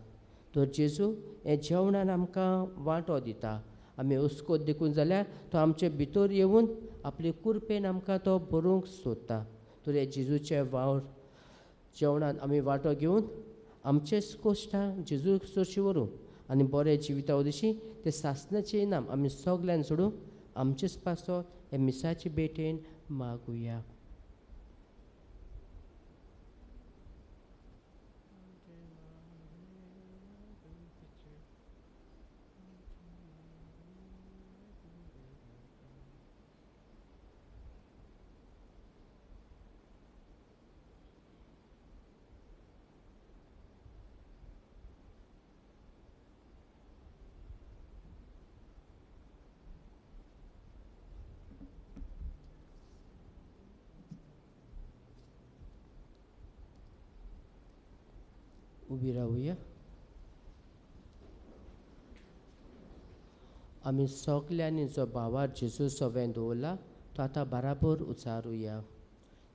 तर जेजू हें जेवणान आमकां वांटो दिता. आमी अस्कोत देखून जाल्यार तो आमचे भितर येवन आपले कुरपेन आमकां तो बरोवंक सोदता. तर हे जेजूचे वावर जेवणान आमी वांटो घेवन आमचेच कोश्टां जेजू सोशी व्हरूं आनी बरें जिविता उदेशी ते सासणाचें इनाम आमी सगल्यांक सोडूं आमचेच पासत हे मिसाचे भेटेन मागुया. उबी रावया. आमी सगल्यांनी जो भावार जेजू सवें दवरला तो आतां बराबर उचारुया.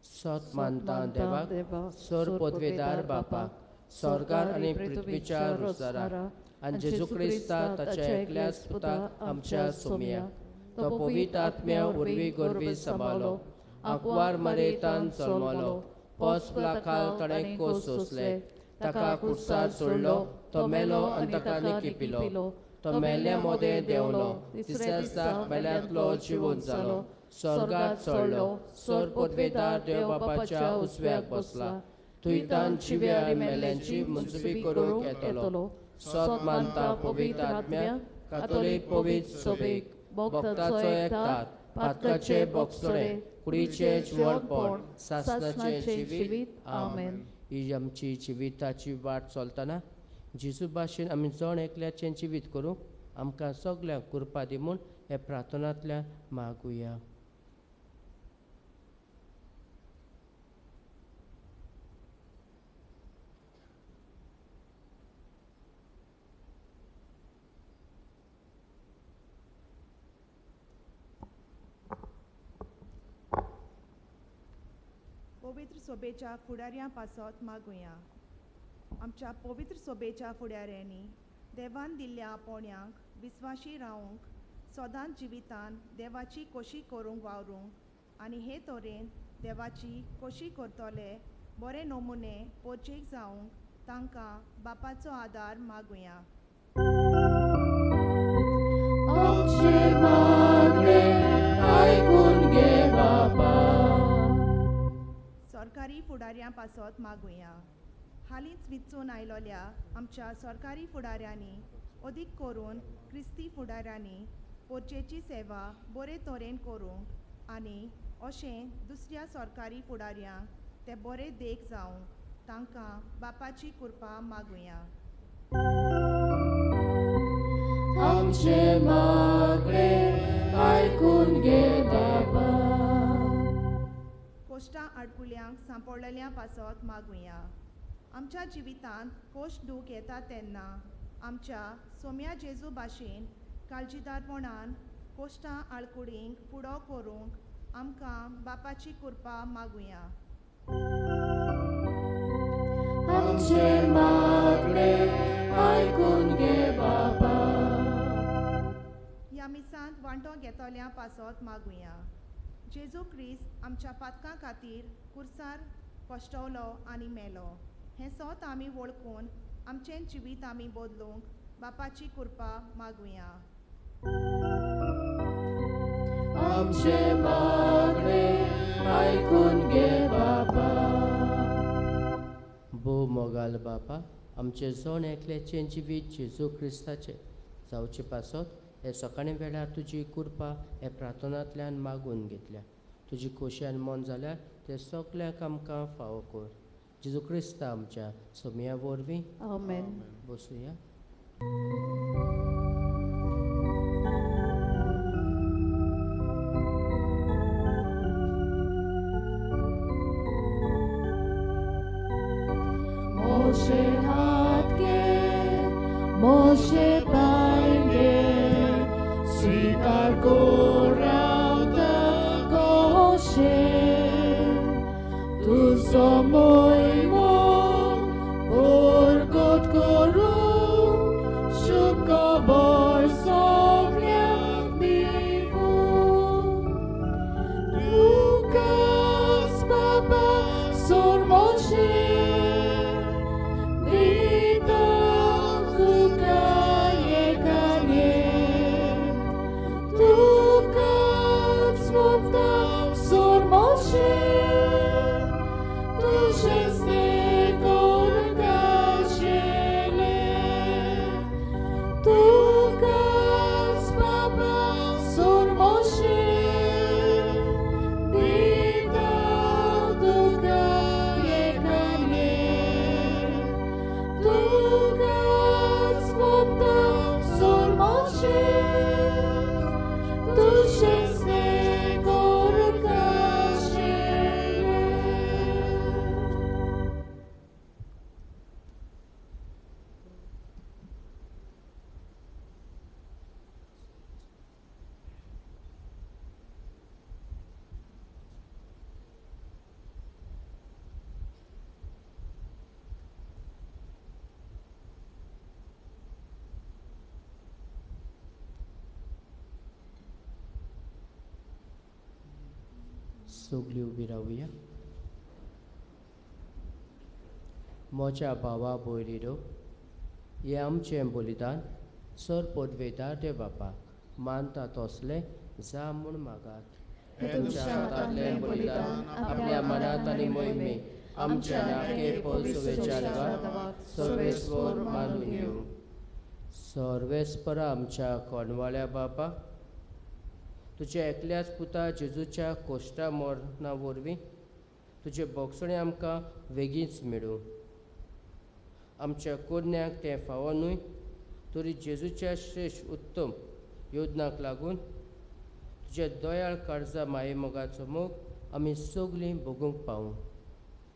सत मानता देवाक, सर पदवेदार बापाक, स्वर्गार आनी पृथ्वीच्या रोजदाराक आनी जेजू क्रिस्ता ताच्या एकल्याच पुताक आमच्या सोमयाक, तो पवित्र आत्म्या वरवीं गर्भी सांबाळ्ळो, आंकवार मरेतान जल्मलो, पोस खाल ताणें कोस सोंसले, ताका कुर्सार सोडलो, तो मेलो आनी ताका निकिपिलो. तो मेल्ल्या मोदें देंवलो, तिसऱ्या दिसा मेल्यांतलो जिवंत जालो, स्वर्गात चडलो, स्वर पदवेदार देव बापाच्या उजव्याक बसला. थंयतान जिव्या आनी मेल्ल्यांची मुंजबी करूंक येतलो. सत मानता पवित्र आत्म्याक, कातोलीक पवित्र सभेक, भक्ताचो एकतात, पातकाचे बोगसणे, कुडीचें जिवणपण, सासणाचें जिवीत. आमेन. ही आमची जिविताची वाट चलतना जेजू भाशेन आमी जण एकल्याचें जिवीत करूंक आमकां सगल्यांक कृपा दी म्हूण हे प्रार्थनांतल्यान मागुया. पवित्र सोबेच्या फुडाऱ्यां पासत मागुया. आमच्या पवित्र सोबेच्या फुडाऱ्यांनी देवान दिल्ल्या आपोवण्यांक विस्वाशी रावंक, सदांच जिवितान देवाची कोशी करूंक वावरूंक आनी हे तरेन देवाची कोशी करतले बरे नमुने पोचेक जावंक तांकां बापाचो आदार मागुया. आमचें मागणें आयकून घे बापा. सरकारी फुडाऱ्यां पासत मागुया. हालींच विचून आयलोल्या आमच्या सरकारी फुडाऱ्यांनी, अदीक करून क्रिस्ती फुडाऱ्यांनी, पोरचेची सेवा बरे तरेन करूंक आनी अशें दुसऱ्या सरकारी फुडाऱ्यांक ते बरे देख जावंक तांकां बापाची कृपा मागुया. आमचें मागणें आयकून घे बापा. कोश्टां आडकुल्यांक सांपडलेल्या पासत मागुया. आमच्या जिवितांत कोश दूख येता तेन्ना आमच्या सोम्या जेजू भाशेन काळजीदारपणान कोश्टां आळकुडींक फुडो करूंक आमकां बापाची कृपा मागुया. आमचें मागणें आयकून घे बापा. ह्या मिसांत वांटो घेतल्या पासत मागुया. जेजू क्रिस्त आमच्या पातकां खातीर कुर्सार कश्टवलो आनी मेलो हें सोत आमी वळखून आमचें जिवीत आमी बदलूंक बापाची कृपा मागुया. आमचें मागणें आयकून घे बापा. भोव मोगाल बापा, आमचें जण एकल्याचें जिवीत जेजू क्रिस्ताचें जावचे पासत हे सकाळी वेळार तुजी कृपा हे प्रार्थनांतल्यान मागून घेतल्या. तुजी खोशयान मन जाल्यार ते सगल्यांक आमकां फावो कर. जेजू क्रिस्ता आमच्या सोमया वरवीं. आमेन. बसुया. मोशे हात गे, मोशे पाय गे, स्वीकार कोरावता कोशे, तुजो मोयमो परगट करूं, शुभ खबर सगल्यांक दिवूं. तुकाच बाबा सोर मोशे, दिता तुका एकाने, तुकाच मुक्ता सोर मोशे, सगळी उबी रावया. म्हज्या भावा भयणीनो, हें आमचें बलिदान सर पदवेदार देव बापाक मानता तसलें जा म्हूण मागात. तुमच्या हातांतलें बलिदान आपल्या मनांत आनी मोहिमे आमच्या नाके पळसुवेच्या देवाक सर्वेस्पर मानून घेवं. सर्वेस्परा आमच्या कोणवाळ्या बापा, तुज्या एकल्याच पुता जेजूच्या कोश्टा मरणा वरवीं तुजे बोगसणें आमकां वेगींच मेळूं. आमच्या कोरण्याक तें फावो न्हय तरी जेजूच्या श्रेश्ठ उत्तम योजनाक लागून तुज्या दयाळ काळजा माये मोगाचो मोग आमी सगलीं भोगूंक पावूं.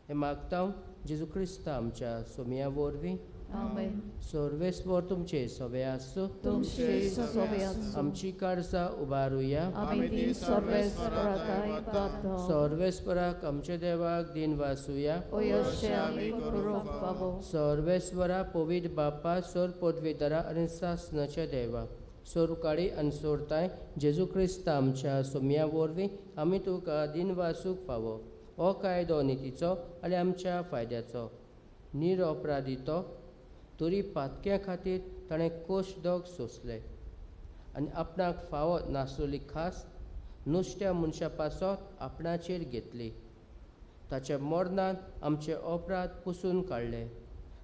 हें मागता जेजू क्रिस्ता आमच्या सोमया वरवीं. आमेन. सर्वेस्पर तुमचे सवे आसूं. तुमचे सवे आसूं. आमची काळजां उबारुया. आमी ती सर्वेस्पराक दाता. सर्वेस्पराक आमच्या देवाक दिन वासुया. अशें आमी करूंक फावो. सर्वेस्वरा पवित्र बापा, सोर पदवेदारा आनी सासनाच्या देवा, सोरकाळी आनी सोरताय जेजू क्रिस्ता आमच्या सोमया वरवीं आमी तुका दिन वासूंक फावो. हो कायदो नितीचो आनी आमच्या फायद्याचो. निरअपराधी तो तरी पातक्या खातीर ताणें कोश दोग सोंसले आनी आपणाक फावो नासलेली खास नुस्त्या मनशा पासत आपणाचेर घेतली. ताच्या मरणान आमचे अपराध पुसून काडले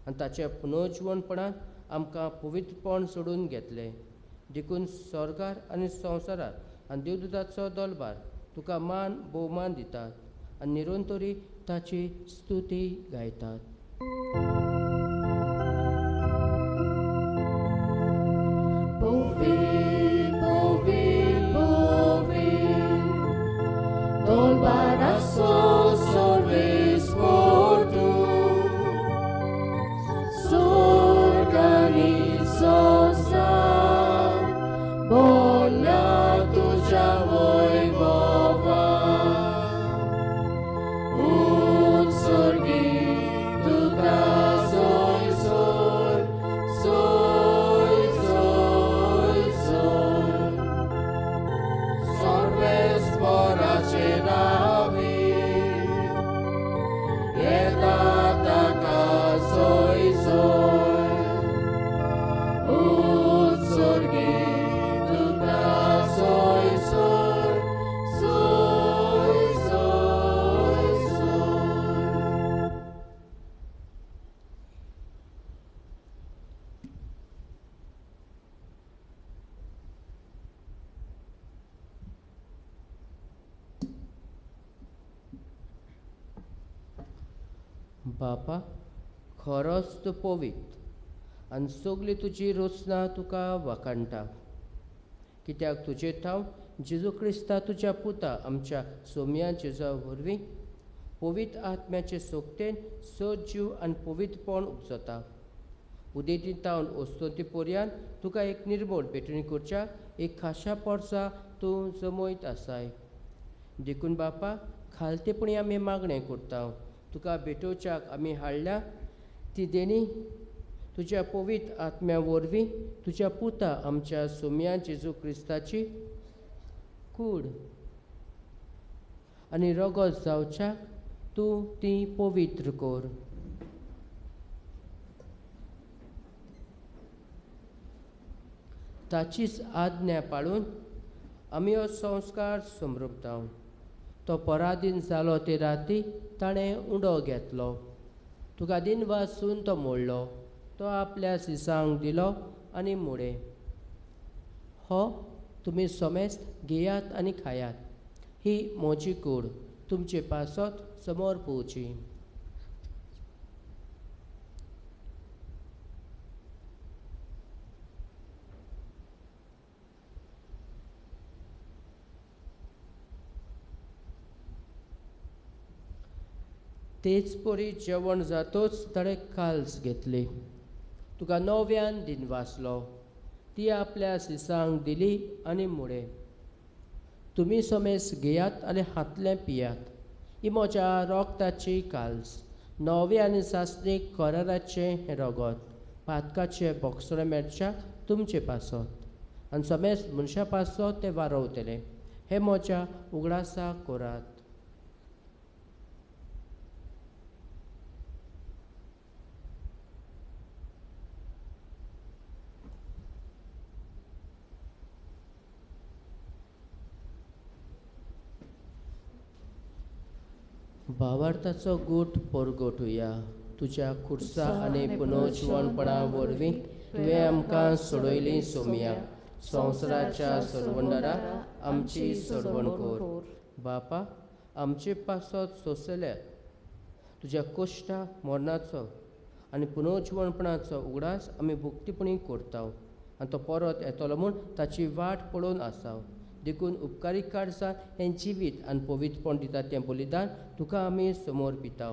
आनी ताच्या पुनर्जिवनपणान आमकां पवित्रपण सोडून घेतलें. देखून स्वर्गार आनी संवसारार आनी देवदूताचो दलबार तुका मान भोवमान दितात आनी निरंतरी ताची स्तुती गायतात. बापा, खरोच तूं पवित्र आनी सगली तुजी रचना तुका वाखाणटा. कित्याक तुजे थावन जेजू क्रिस्ता तुज्या पुता आमच्या सोमया जेजा वरवीं पवित्र आत्म्याचे सोगतेन सजीव आनी पवित्रपण उपजता. उदेंती थावन अस्तंती पर्यंत तुका एक निर्मळ भेटणी करच्या एक खाशा पोरसा तूं जमयत आसाय. देखून बापा, खालतेपणी आमी मागणें करता. तुका भेटोवच्याक आमी हाडल्या ती देणी तुज्या पवित्र आत्म्या वरवीं तुज्या पुता आमच्या सोमया जेजू क्रिस्ताची कूड आनी रगत जावच्याक तूं ती पवित्र कर. ताचीच आज्ञा पाळून आमी हो संस्कार समृपता. तो पराधीन जालो ते राती ताणें उंडो घेतलो. तुका दिन वासून तो मोडलो. तो आपल्या सिसांक दिलो आनी मुडे, हो तुमी समेस्त घेयात आनी खायात. ही म्हजी कूड तुमचे पासत समोर पोवची. तेच परी जेवण जातोच ताणें काल्स घेतली. तुका नव्यान दिन वाचलो. ती आपल्या सिसांक दिली आनी मुडे, तुमी समेस घेयात आनी हातलें पियात. ही म्हज्या रोगताची काल्स, नवे आनी सासणीक कराराचें हें रगत पातकाचें बोगसणें मेळच्याक तुमचे पासत आनी समेस्त मनशां पासत तें वारवतलें. हें म्हज्या उगडासाक करात. भावार्थाचो गूट परगटुया. तुज्या खुर्सा आनी पुनर्जिवणपणा वरवीं तुवें आमकां सोडयली सोमया. संवसाराच्या सोडवणदारा आमची सोडवण कर. बापा आमचे पासत सोंसल्या तुज्या कश्टा मरणाचो आनी पुनर्जिवणपणाचो उगडास आमी भक्तीपणी करता आनी तो परत येतलो म्हूण ताची वाट पळोवन आसा. देखून उपकारी काळजान हें जिवीत आनी पवित्रपण दिता तें बलिदान तुका आमी समोर पिता.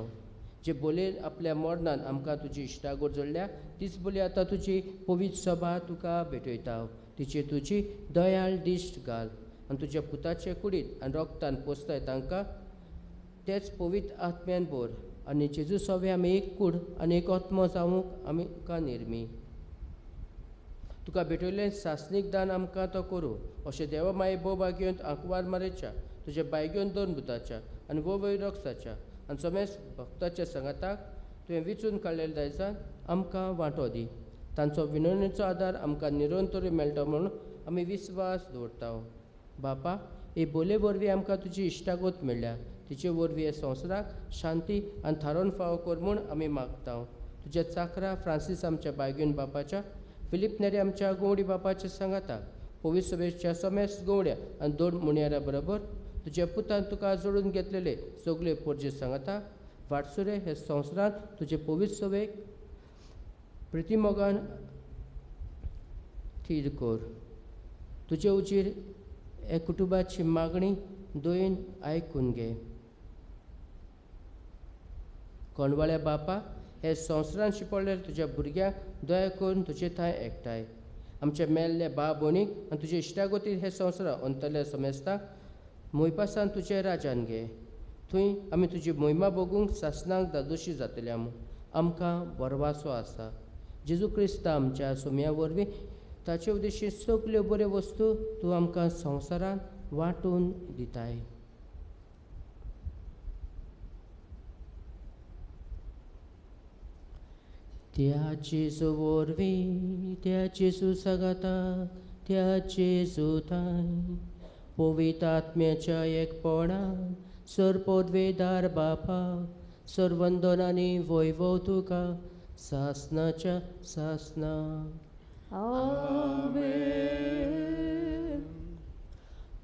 जे बोलयेन आपल्या मरणान आमकां तुजी इश्टागत जोडल्या तीच बोली आतां तुजी पवित्र सभा तुका भेटयता. तिची तुजी दयाळ दिश्ट घाल आनी तुज्या पुताचे कुडीत आनी रोगतान पोसताय तांकां तेच पवित्र आत्म्यान भर आनी जेजू सवे आमी एक कूड आनी एक आत्मो जावंक आमकां निर्मी. तुका भेटयल्लें सासणीक दान आमकां तो करूं अशें देवा माये भोव भाग्योंत आंकवार मारेच्या तुज्या बायग्योन दोन भुताच्या आनी भोव वयर रक्साच्या आनी समेस भक्ताच्या सांगाताक तुवें विचून काडलेल्या दायजान आमकां वांटो दी. तांचो विनवणेचो आदार आमकां निरंतर मेळटा म्हणून आमी विस्वास दवरता. बापा हे बोले वरवीं आमकां तुजी इश्टागत मेळ्ळ्या तिचे वरवीं हे संवसाराक शांती आनी थारोवन फावो कर म्हूण आमी मागता. तुज्या चाकरा फ्रांसीस आमच्या बायगून बापाच्या, फिलीप नेरी आमच्या गोवडी बापाच्या सांगाताक, पवित्र सभेच्या समेस गोवड्या आनी दोन मुणयारा बरोबर तुज्या पुतान तुका जोडून घेतलेले सगळे पोरजे सांगाता वाटसुरे हे संवसारांत तुजे पवित्र सभेक प्रितीमोगान थीर कर. तुजे उजीर हे कुटुंबाची मागणी दयेन आयकून घे. कोणवाळ्या बापा हे संवसारांत शिंपडलेल्या तुज्या भुरग्यांक दया करून तुजे थंय एकठांय. आमच्या मेल्ल्या बा भयणीक आनी तुजे इश्टागतीर हे संवसारांत अंतरल्या समेस्तांक मोयपासान तुजे राजान घे. थंय आमी तुजी मोहिमा भोगूंक सासणाक दादोशी जातल्या म्हूण आमकां बरवासो आसा. जेजू क्रिस्ता आमच्या सोम्या वरवीं ताचे उद्देशी सगल्यो बऱ्यो वस्तू तूं आमकां संवसारांत वांटून दिताय. त्या जेजू वरवीं, त्या जेजू सांगाता, त्या जेजू थांय पवित्र आत्म्याच्या एकपणान सरपोदवेदार बापा सर्वंदन आनी वैभव तुका सासनाच्या सासना. आमेन.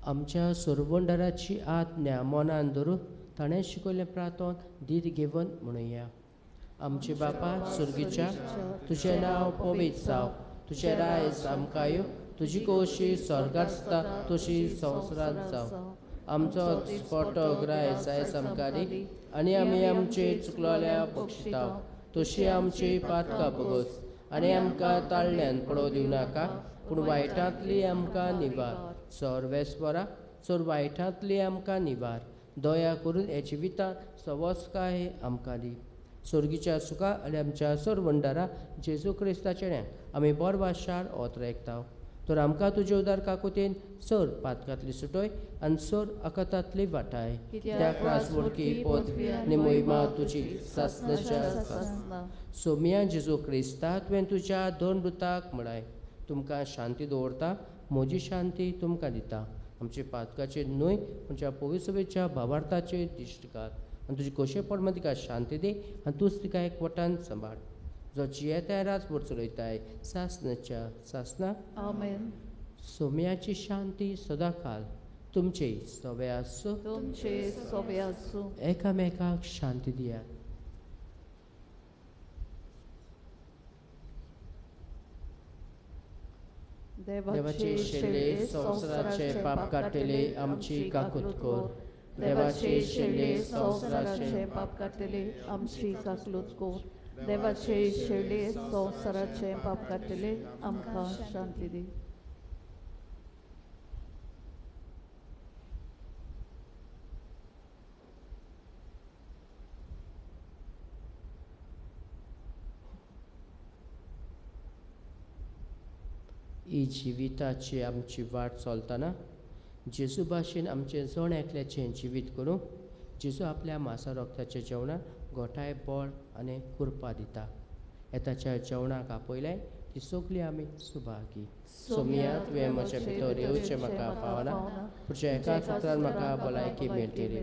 आमच्या सरवंडाराची आज्ञा मनान धरून ताणें शिकयल्लें प्रार्थन धीर घेवन म्हणुया. आमचे बापा स्वर्गीच्या, तुजें नांव पवित्र जावं, तुजें रायज आमकां येवं, तुजी खोशी स्वर्गांत आसता तशी संवसारांत जावं. आमचो पोटो ग्रायज आयज आमकां दी आनी आमी आमचे चुकलोल्या बक्षिता तशी आमची पातकां बगस आनी आमकां ताळल्यान पडोवं दिवं नाका, पूण वायटांतली आमकां निवार. सर्वेस्वरा चड वायटांतली आमकां निवार. दया करून हे जिवितांत सवस्काय आमकां दी. स्वर्गीच्या सुखा आनी आमच्या सरवंडारा जेजू क्रिस्ताच्या आमी बोरवाशार ओत एकता. तर आमकां तुजे उदार काकुतेन सर पातकांतली सुटोय आनी सर आकातांतली वाटाय. त्या क्रास वडकी पदवी आनी मोहिमा तुजी सासनाच्या सासना. सोम्या जेजू क्रिस्ता तुवें तुज्या दोन दुताक म्हळाय, तुमकां शांती दवरता, म्हजी शांती तुमकां दिता. आमचे पातकाचेर न्हय आमच्या पवित्र भावार्थाचेर दिश्ट घाल आनी तुजी खोशे प्रमाण तिका शांती दी आनी तूंच तिका एक वटान सांबाळ. जो जियेताय राजभर चलयताय सासनाच्या सासना. आमेन. सोम्याची शांती सदांकाल तुमचे सवे आसूं, तुमचे सवे आसूं. एकामेकाक शांती दियात. देवाचे शेले संवसाराचे पाप काडटले आमची काकूत कर. देवाचे शेले संवसाराचे पाप काडटले आमची काकलूत कर. देवाचे शेले संवसाराचे पाप काडटले आमकां शांती दी. ही जिविताची आमची वाट चलतना जेजू भाशेन आमचें जण एकल्याचें जिवीत करूंक जेजू आपल्या मासा रोगताच्या जेवणाक गोठाय बळ आनी कृपा दिता. येताच्या जेवणाक आपयलें ती सगळी आमी सुभागी. सोमिया तुवें म्हज्या भितर येवचें म्हाका पावना, तुज्या एका सुत्रान म्हाका भलायकी मेळटली.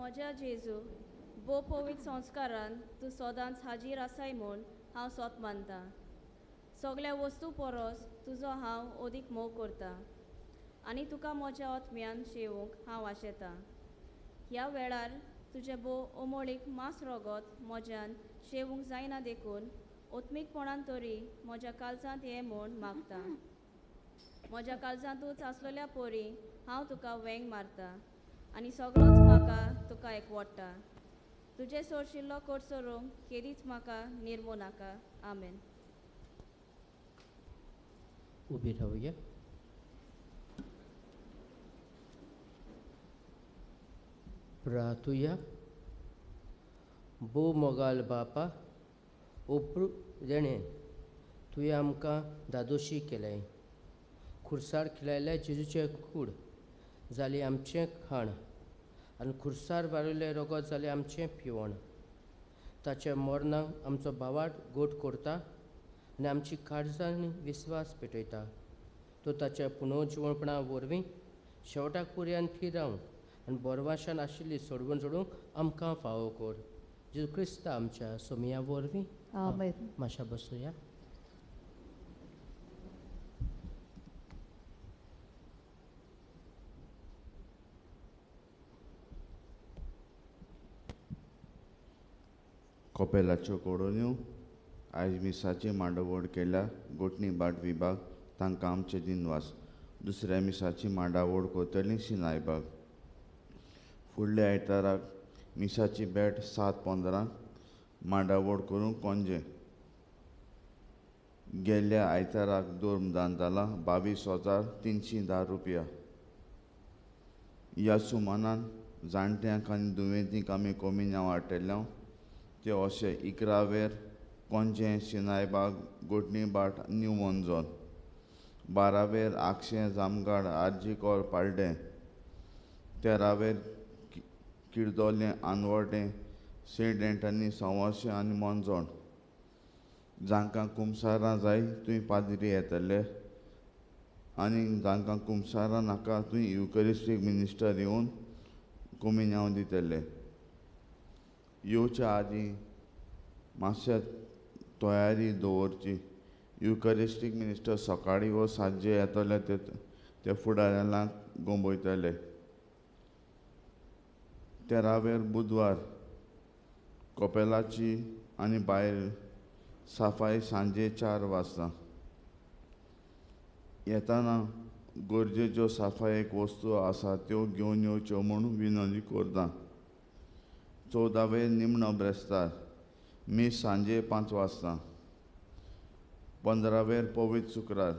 म्हज्या जेजू, भोव पवित्र संस्कारान तूं सदांच हाजीर आसाय म्हूण हांव सोत मानता. सगळ्या वस्तू परस तुजो हांव अदीक मोग करता आनी तुका म्हज्या आत्म्यान शेवूंक हांव आशेतां. ह्या वेळार तुजें भोव अमोळीक मांस रगत म्हज्यान शेवूंक जायना देखून आत्मीकपणान तरी म्हज्या काळजांत ये म्हूण मागता. म्हज्या काळजांतूच आसलेल्या परी हांव तुका वेंग मारता आनी सगळोच म्हाका तुका एकवडटा. तुजें सोरशिल्लो कोटसरूंक केदीच म्हाका निर्मू नाका. आमेन. उबी रावया. प्रार्थुया. भोव मोगाल बापा, ओप्रू देणें तुवें आमकां दादोशी केलें. खुर्सार खिलायल्या जेजूचें कूड जालें आमचें खाण आनी खुर्सार वारिल्लें रगत जालें आमचें पिवण. ताच्या मरणाक आमचो भावार्थ गोट करता आनी आमची काळजांनी विस्वास पेटयता. तो ताच्या पुनर्जिवणपणा वरवीं शेवटाक पुर्यान थीर रावंक आनी बोरवाशान आशिल्ली सोडवण जोडूंक आमकां फावो कर. जेजू क्रिस्ता आमच्या सोमया वरवीं. आमेन. मातशा बसुया. कोपेलाच्यो कोडोन्यो आयज मिसाची मांडावळ केल्या गोटणी बाट विभाग तांकां आमचे दिनवास. दुसऱ्या मिसाची मांडावळ करतली सिनायबाग. फुडल्या आयताराक मिसाची भेट 7:15 मांडावळ करूंक कोंजे. गेल्ल्या आयताराक दोर्म जाला 22,310 रुपया. ह्या सुमानान जाणट्यांक आनी दुयेंतींक आमी कमी नांव हाडटले ते अशे 11 वेर कोंजे सिनायबाग गोटणी बाट न्यू मोंजोन, 12 वेर आगशें जामगाड आरजीकोर पाड्डें, 13 वेर किर्दोलें आनवटें सेंट एंटनी सवाशें आनी मोंजोण. जांकां कुमसारां जाय थंय पाद्री येतले आनी जांकां कुमसारां नाका थंय युकरिस्टीक मिनिस्टर येवन कोमिन्यांव दितले. येवच्या आदीं मातशें तयारी दवरची. युकरिस्टीक मिनिस्टर सकाळीं वो सांजे येतले ते फुडाऱ्यांक गोंबयतले. 13 वेर बुधवार कोपेलाची आनी भायर साफाय सांजे 4 वाजता. येताना गरजेच्यो साफायेक वस्तू आसा त्यो घेवन येवच्यो म्हूण विनवणी करता. 14 वेर निमणो ब्रेस्तार मीस सांजे 5 वाजता. 15 वेर पवित्र शुक्रार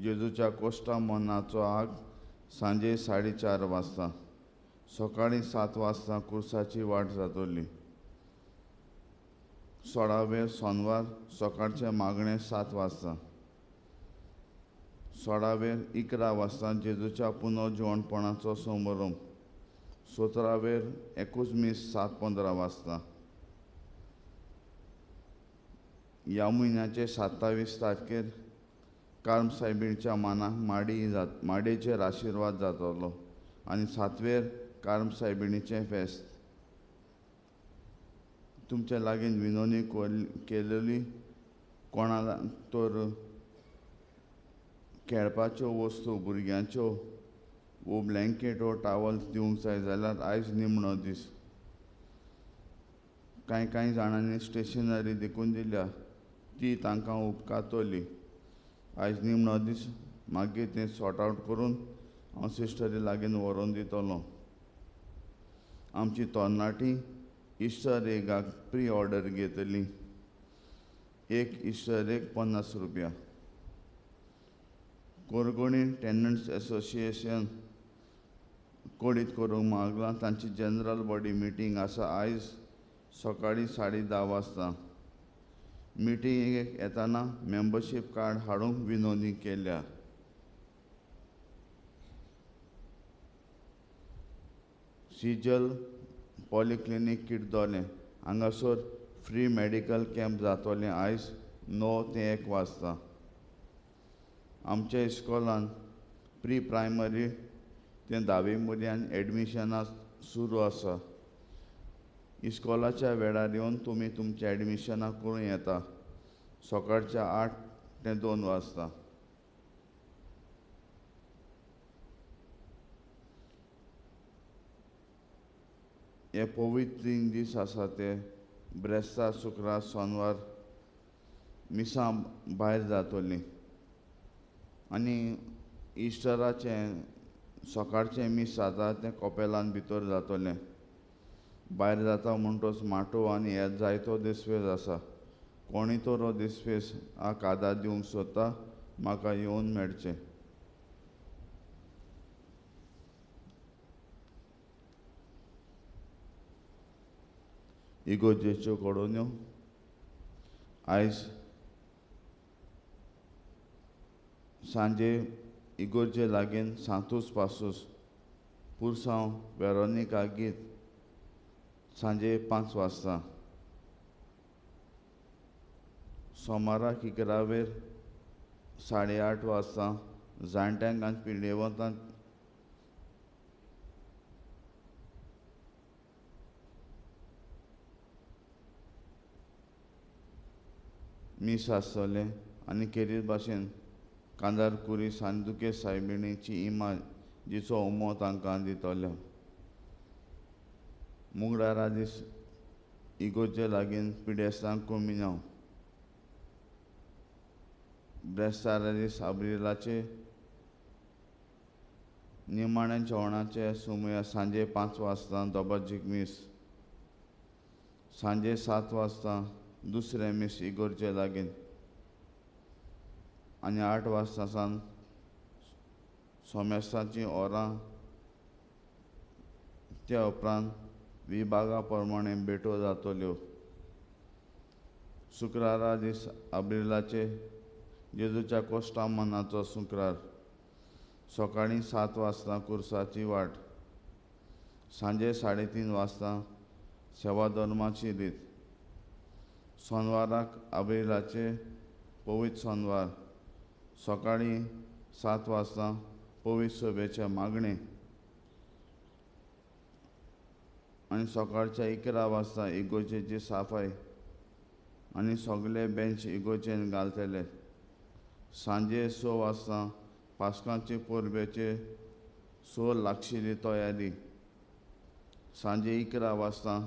जेजूच्या कोश्टा मनाचो आग सांजे 4:30 वाजता. सकाळीं 7 वाजता कुर्साची वाट जातली. 16 वेर सोनवार सकाळचें मागणें 7 वाजता. 16 वेर 11 वाजता जेजूच्या पुनर्जिवणपणाचो समारंभ. 17 वेर एकूच मीस 7:15 वाजता. ह्या म्हयन्याचे 27 तारखेर कार्म सायबीणच्या मानाक माडयेचेर आशिर्वाद जातलो आनी 7 वेर कार्म सायबिणीचें फेस्त. तुमच्या लागीं विनवणी केलेली कोणाला तर खेळपाच्यो वस्तू भुरग्यांच्यो वो ब्लँकेट वो टावल्स दिवंक जाय जाल्यार आयज निमणो दीस. कांय कांय जाणांनी स्टेशनरी देखून दिल्या ती तांकां उपकारतली. आयज निमणो दीस, मागीर तें सॉर्ट आवट करून हांव सिस्टरी लागीं व्हरोन दितलो. आमची तरणाटी इस्टर एगाक प्री ऑर्डर घेतली. एक इस्टर एग 50 रुपया. कोरगोणी टेनंट्स एसोसिएशन कोडीत करूंक मागलां. तांची जनरल बॉडी मिटींग आसा आयज सकाळीं 10:30 वाजता. मिटिंगेक येताना मेंबरशीप कार्ड हाडूंक विनवणी केल्या. सिजल पॉलिक्लिनीक किर्दोलें हांगासर फ्री मेडिकल कॅम्प जातलें आयज 9 ते 1 वाजता. आमच्या इस्कॉलान प्री प्रायमरी ते 10वी मुर्यान एडमिशनां सुरू आसा. इस्कॉलाच्या वेळार येवन तुमी तुमच्या एडमिशनां करूं येता. सकाळच्या 8 ते 2 वाजता. हे पवित्र 3 दीस आसा ते ब्रेस्तार, शुक्रार, सोनवार मिसां भायर जातलीं आनी इस्टराचें सकाळचें मीस जाता तें कपेलान भितर जातलें. भायर जाता म्हणटच माटोव आनी हेर जायतो दिसवेस आसा. कोणी तर हो दिसवेस आदार दिवंक सोदता म्हाका येवन मेळचें. इगोर्जेच्यो घडोवण्यो आयज सांजे इगोर्जे लागीं सांतूस पासूस पुरसांव वेरोनिका गीत सांजे 5 वाजता. सोमाराक 11 8:30 वाजता जाणट्यांक आनी पिडेवंतांक मीस आसतलें आनी खेरीत भाशेन कांदार कुरी सांदुके सायबिणीची इमाज जिचो उमो तांकां दितलो. मुगडारा दीस इगोर्जे लागीं पिडेस्तांक कोमिन्यांव. ब्रेस्तारा दीस आब्रिलाचे निमाण्या जेवणाचे सुमया सांजे 5 वाजता दोबाजीक मीस. सांजे 7 वाजता दुसरें मीस इगोर्जे लागीं आनी 8 वाजता सावन सोमेस्ताचीं ओरां. त्या उपरांत विभागा प्रमाणे भेटो जातल्यो. शुक्रारा दीस आब्रिलाचे जेजूच्या कोश्टा मनाचो शुक्रार सकाळीं 7 वाजता कुर्साची वाट. सांजे 3:30 वाजता सेवा धर्माची रीत. सोनवाराक आब्रिलाचे पवित्र सोनवार सकाळीं 7 वाजता पवित्र सभेचें मागणें आनी सकाळच्या 11 वाजता इगोर्जेची साफाय आनी सगळे बेंच इगोर्जेन घालतले. सांजे 6 वाजता पास्कांचे परबेचे 6 लागशिल्ली तयारी. सांजे 11 वाजता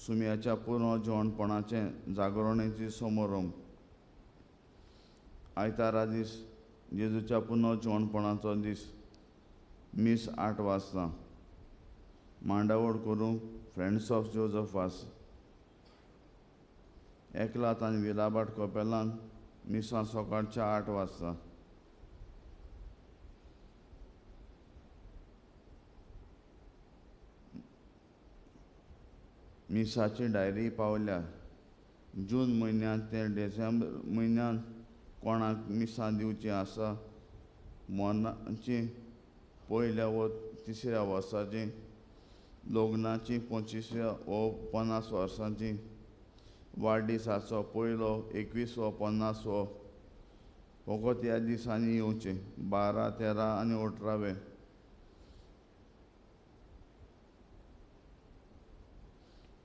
सुम्याच्या पुर्ण जेवणपणाचें जागरणेची समारंभ. आयतारा दीस जेजूच्या पुर्ण जेवणपणाचो दीस मीस 8 वाजता. मांडावळ करूंक फ्रेंड्स ऑफ जोजफ वास. एकलात आनी विलाबाट कपेलान मिसां सकाळच्या 8 वाजता. मिसाची डायरी पावल्या. जून म्हयन्यांत ते डिसेंबर म्हयन्यांत कोणाक मिसां दिवचीं आसा मरणाची पयल्या व तिसऱ्या वर्साची, लग्नाची 25व्या व 50 वर्सांची, वाडदिसाचो पयलो 21 वो 50 वो फकत ह्या दिसांनी येवचें 12, 13 आनी 18वे.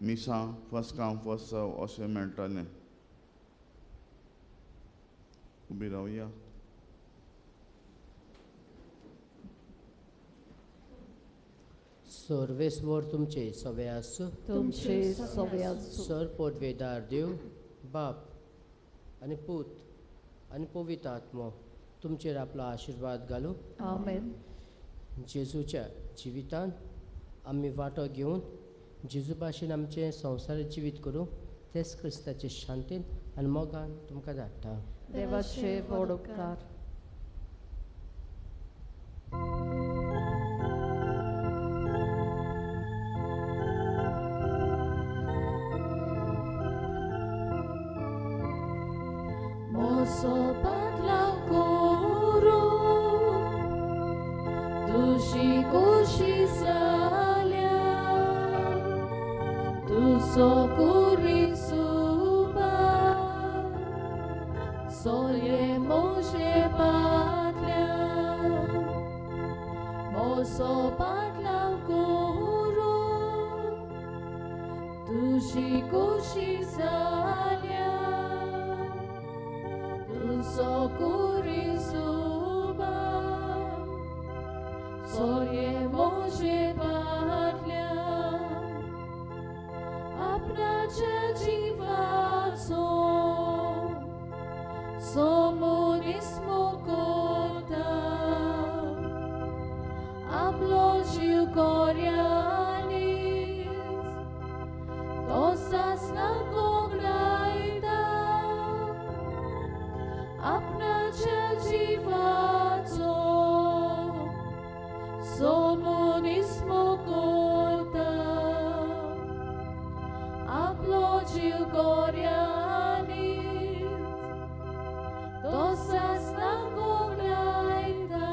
मिसां फर्स्ट कम फर्स्ट सर्व अशें मेळटलें. उबी रावया. सर्वेस्वर तुमचे सवे आसूं. तुमचे सवे आसूं. सर पोटवेदार देव बाप आनी पूत आनी पवित्र आत्मो तुमचेर आपलो आशिर्वाद घालूं. आमेन. जेजूच्या जिवितान आमी वांटो घेवन जेजू भाशेन आमचें संवसारीक जिवीत करूं तेच क्रिस्ताचे शांतीन आनी मोगान तुमकां धाडटा. देवाचे व्हड उपकार. मोसो पाटलाव करूं तुजी खोशी जाल्या तुजो कुरी सुबा सोले मोजे पाटल्यान मोसो पाटलाव करूं तुजी कुशी कुशी जाल्या तुजो कुरिसुबा सोरे मोजे पाटल्या आपणाच्या जिवाचो सोमुनिस्मो कोता आपलो जीव कोर्यानीच तो सासना कोगडायता आपणाच्या जिवाचो सोमुनिस्मो कोता आपलो जीव कोर्यानीच तो सासना कोगडायता.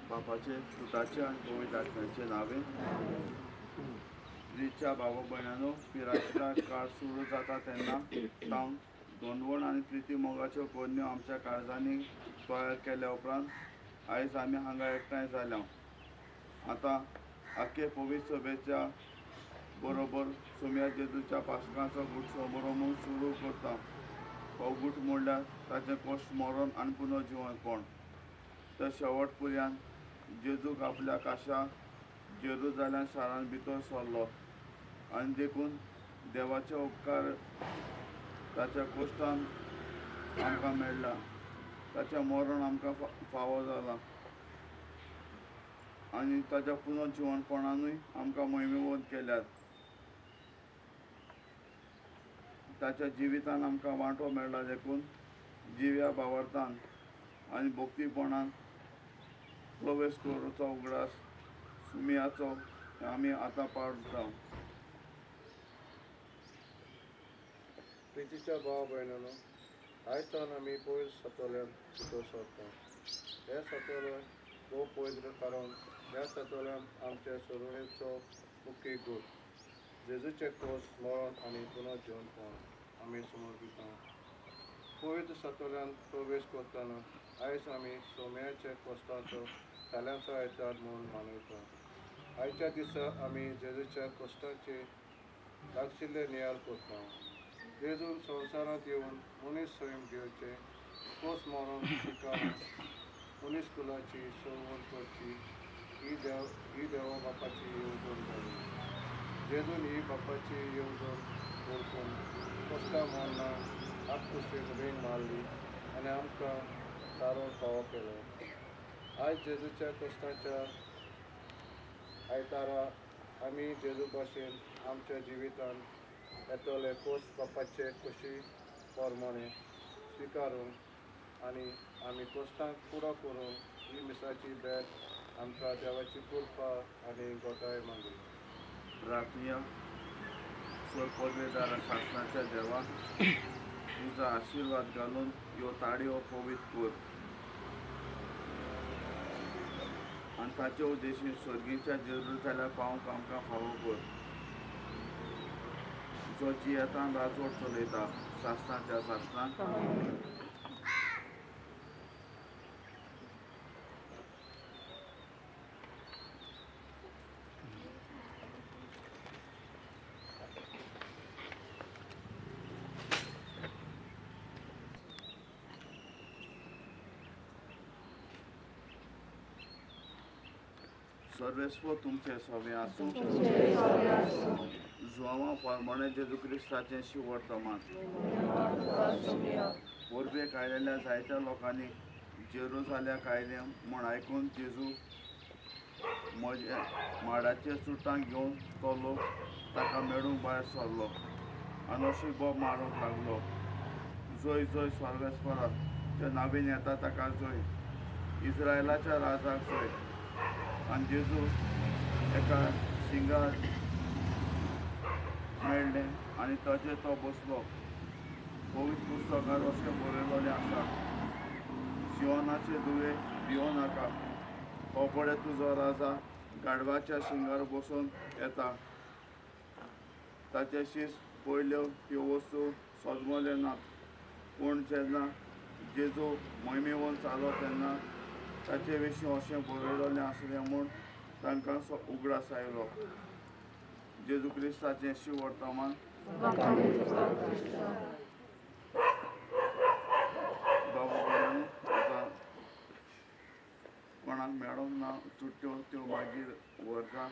बापाचे पुताचे आनी पवित्र आत्म्याचे नावे. प्रिच्या बाबा भयणानो, पिराच्या काळ सुरू जाता तेन्ना तावन दोनवण आनी प्रिती मोगाच्यो कोन्यो आमच्या काळजांनी तयार केल्या उपरांत आयज आमी हांगा एकठांय जाल्या. आतां आख्खे पवित्र सभेच्या बरोबर सोम्या जेजूच्या पासकाचो गूट समारंभ सुरू करता. हो गूट म्हणल्यार ताचें कश्ट मरण आनी पुनर्जिवनपण. तर शेवट पुर्यान जेजूक आपल्या काशा जेरुजाल्या शारान भितर सरलो आनी देखून देवाचे उपकार ताच्या कोश्टान आमकां मेळ्ळा. ताचें मरण आमकां फावो जालां आनी ताच्या पुनर्जिवनपणानूय आमकां मोहिमेवंत केल्यात. ताच्या जिवितान आमकां वांटो मेळ्ळा देखून जिव्या भावार्थान आनी भक्तीपणान प्रवेश करूचो उगडास सुमियाचो आमी आतां पाडता. प्रितीच्या भाव भयणानो, आयज सावन आमी पयस सातोल्यान भितर सरता. हें सातोलें भोव पवित्र कारण ह्या सातोल्यान आमच्या सरुणेचो मुख्य गूट जेजूचें कोस मरण आनी पुनर्जिवनपण आमी समर्पिता. पवित्र सातोल्यान प्रवेश करतना आयज आमी सोम्याच्या कोश्टाचो ताल्यांचो आयतार म्हूण मानयता. आयच्या दिसा आमी जेजूच्या कोश्टाचे लागशिल्ले नियाळ करता. जेजून संवसारांत येवन मनीस सैम घेवचें कोस मरण स्विकारून मनीस कुलाची सोडवण करची ही देवा बापाची येवजण जाली. जेजून ही बापाची येवजण वळखून कोश्टां मरणां आपकुशीक वेंग मारली आनी आमकां तारण फावो केलो. आयज जेजूच्या कोश्टाच्या आयतारा आमी जेजू भाशेन आमच्या जिवितान येतले कोस बापाचे खोशी प्रमाणे स्विकारून आनी आमी कोश्टांक पुरो करून ही मिसाची भेट आमकां देवाची कृपा आनी गोटाय मागली. प्रार्थना. स्वर पदवेदारा शासनाच्या देवा, तुजो आशिर्वाद घालून ह्यो ताळयो पवित्र कर आनी ताचे उद्देशीन सर्गीच्या जेरुजाल्या पावंक आमकां फावो कर, जो जियेतान राजवट चलयता शासनाच्या शासनाक. सर्वेस्व तुमचे सवे आसूं. जुआंवा प्रमाणे जेजू क्रिस्ताचें शिवर्तमान. परबेक आयिल्ल्या जायत्या लोकांनी जेरुजाल्याक आयले म्हूण आयकून जेजू म्हजे माडाचे चुडटां घेवन तो लोक ताका मेळूंक भायर सरलो आनी अशी बोब मारूंक लागलो, जोय जोय सर्वेस्पराच्या नावीन येता ताका जोय, इस्रायलाच्या राजाक जोय. आनी जेजू एका शिंगार मेळ्ळें आनी ताचेर तो बसलो. पवित्र पुस्तकार अशें बरयलेलें आसा, शिवनाचे दुवे भियो नाका, हो पळय तुजो राजा गाडवाच्या शिंगार बसून येता. ताचे शीस पयल्यो ह्यो वस्तू सजमले नात, पूण जेन्ना जेजू मोहिमेवन चालो तेन्ना ताचे विशीं अशें बरयलेलें आसलें म्हूण तांकां उगडास आयलो. जेजू क्रिस्ताचें शिव वर्तमान. बाबू आतां कोणाक मेळोंक ना चुट्ट्यो त्यो मागीर व्हरता.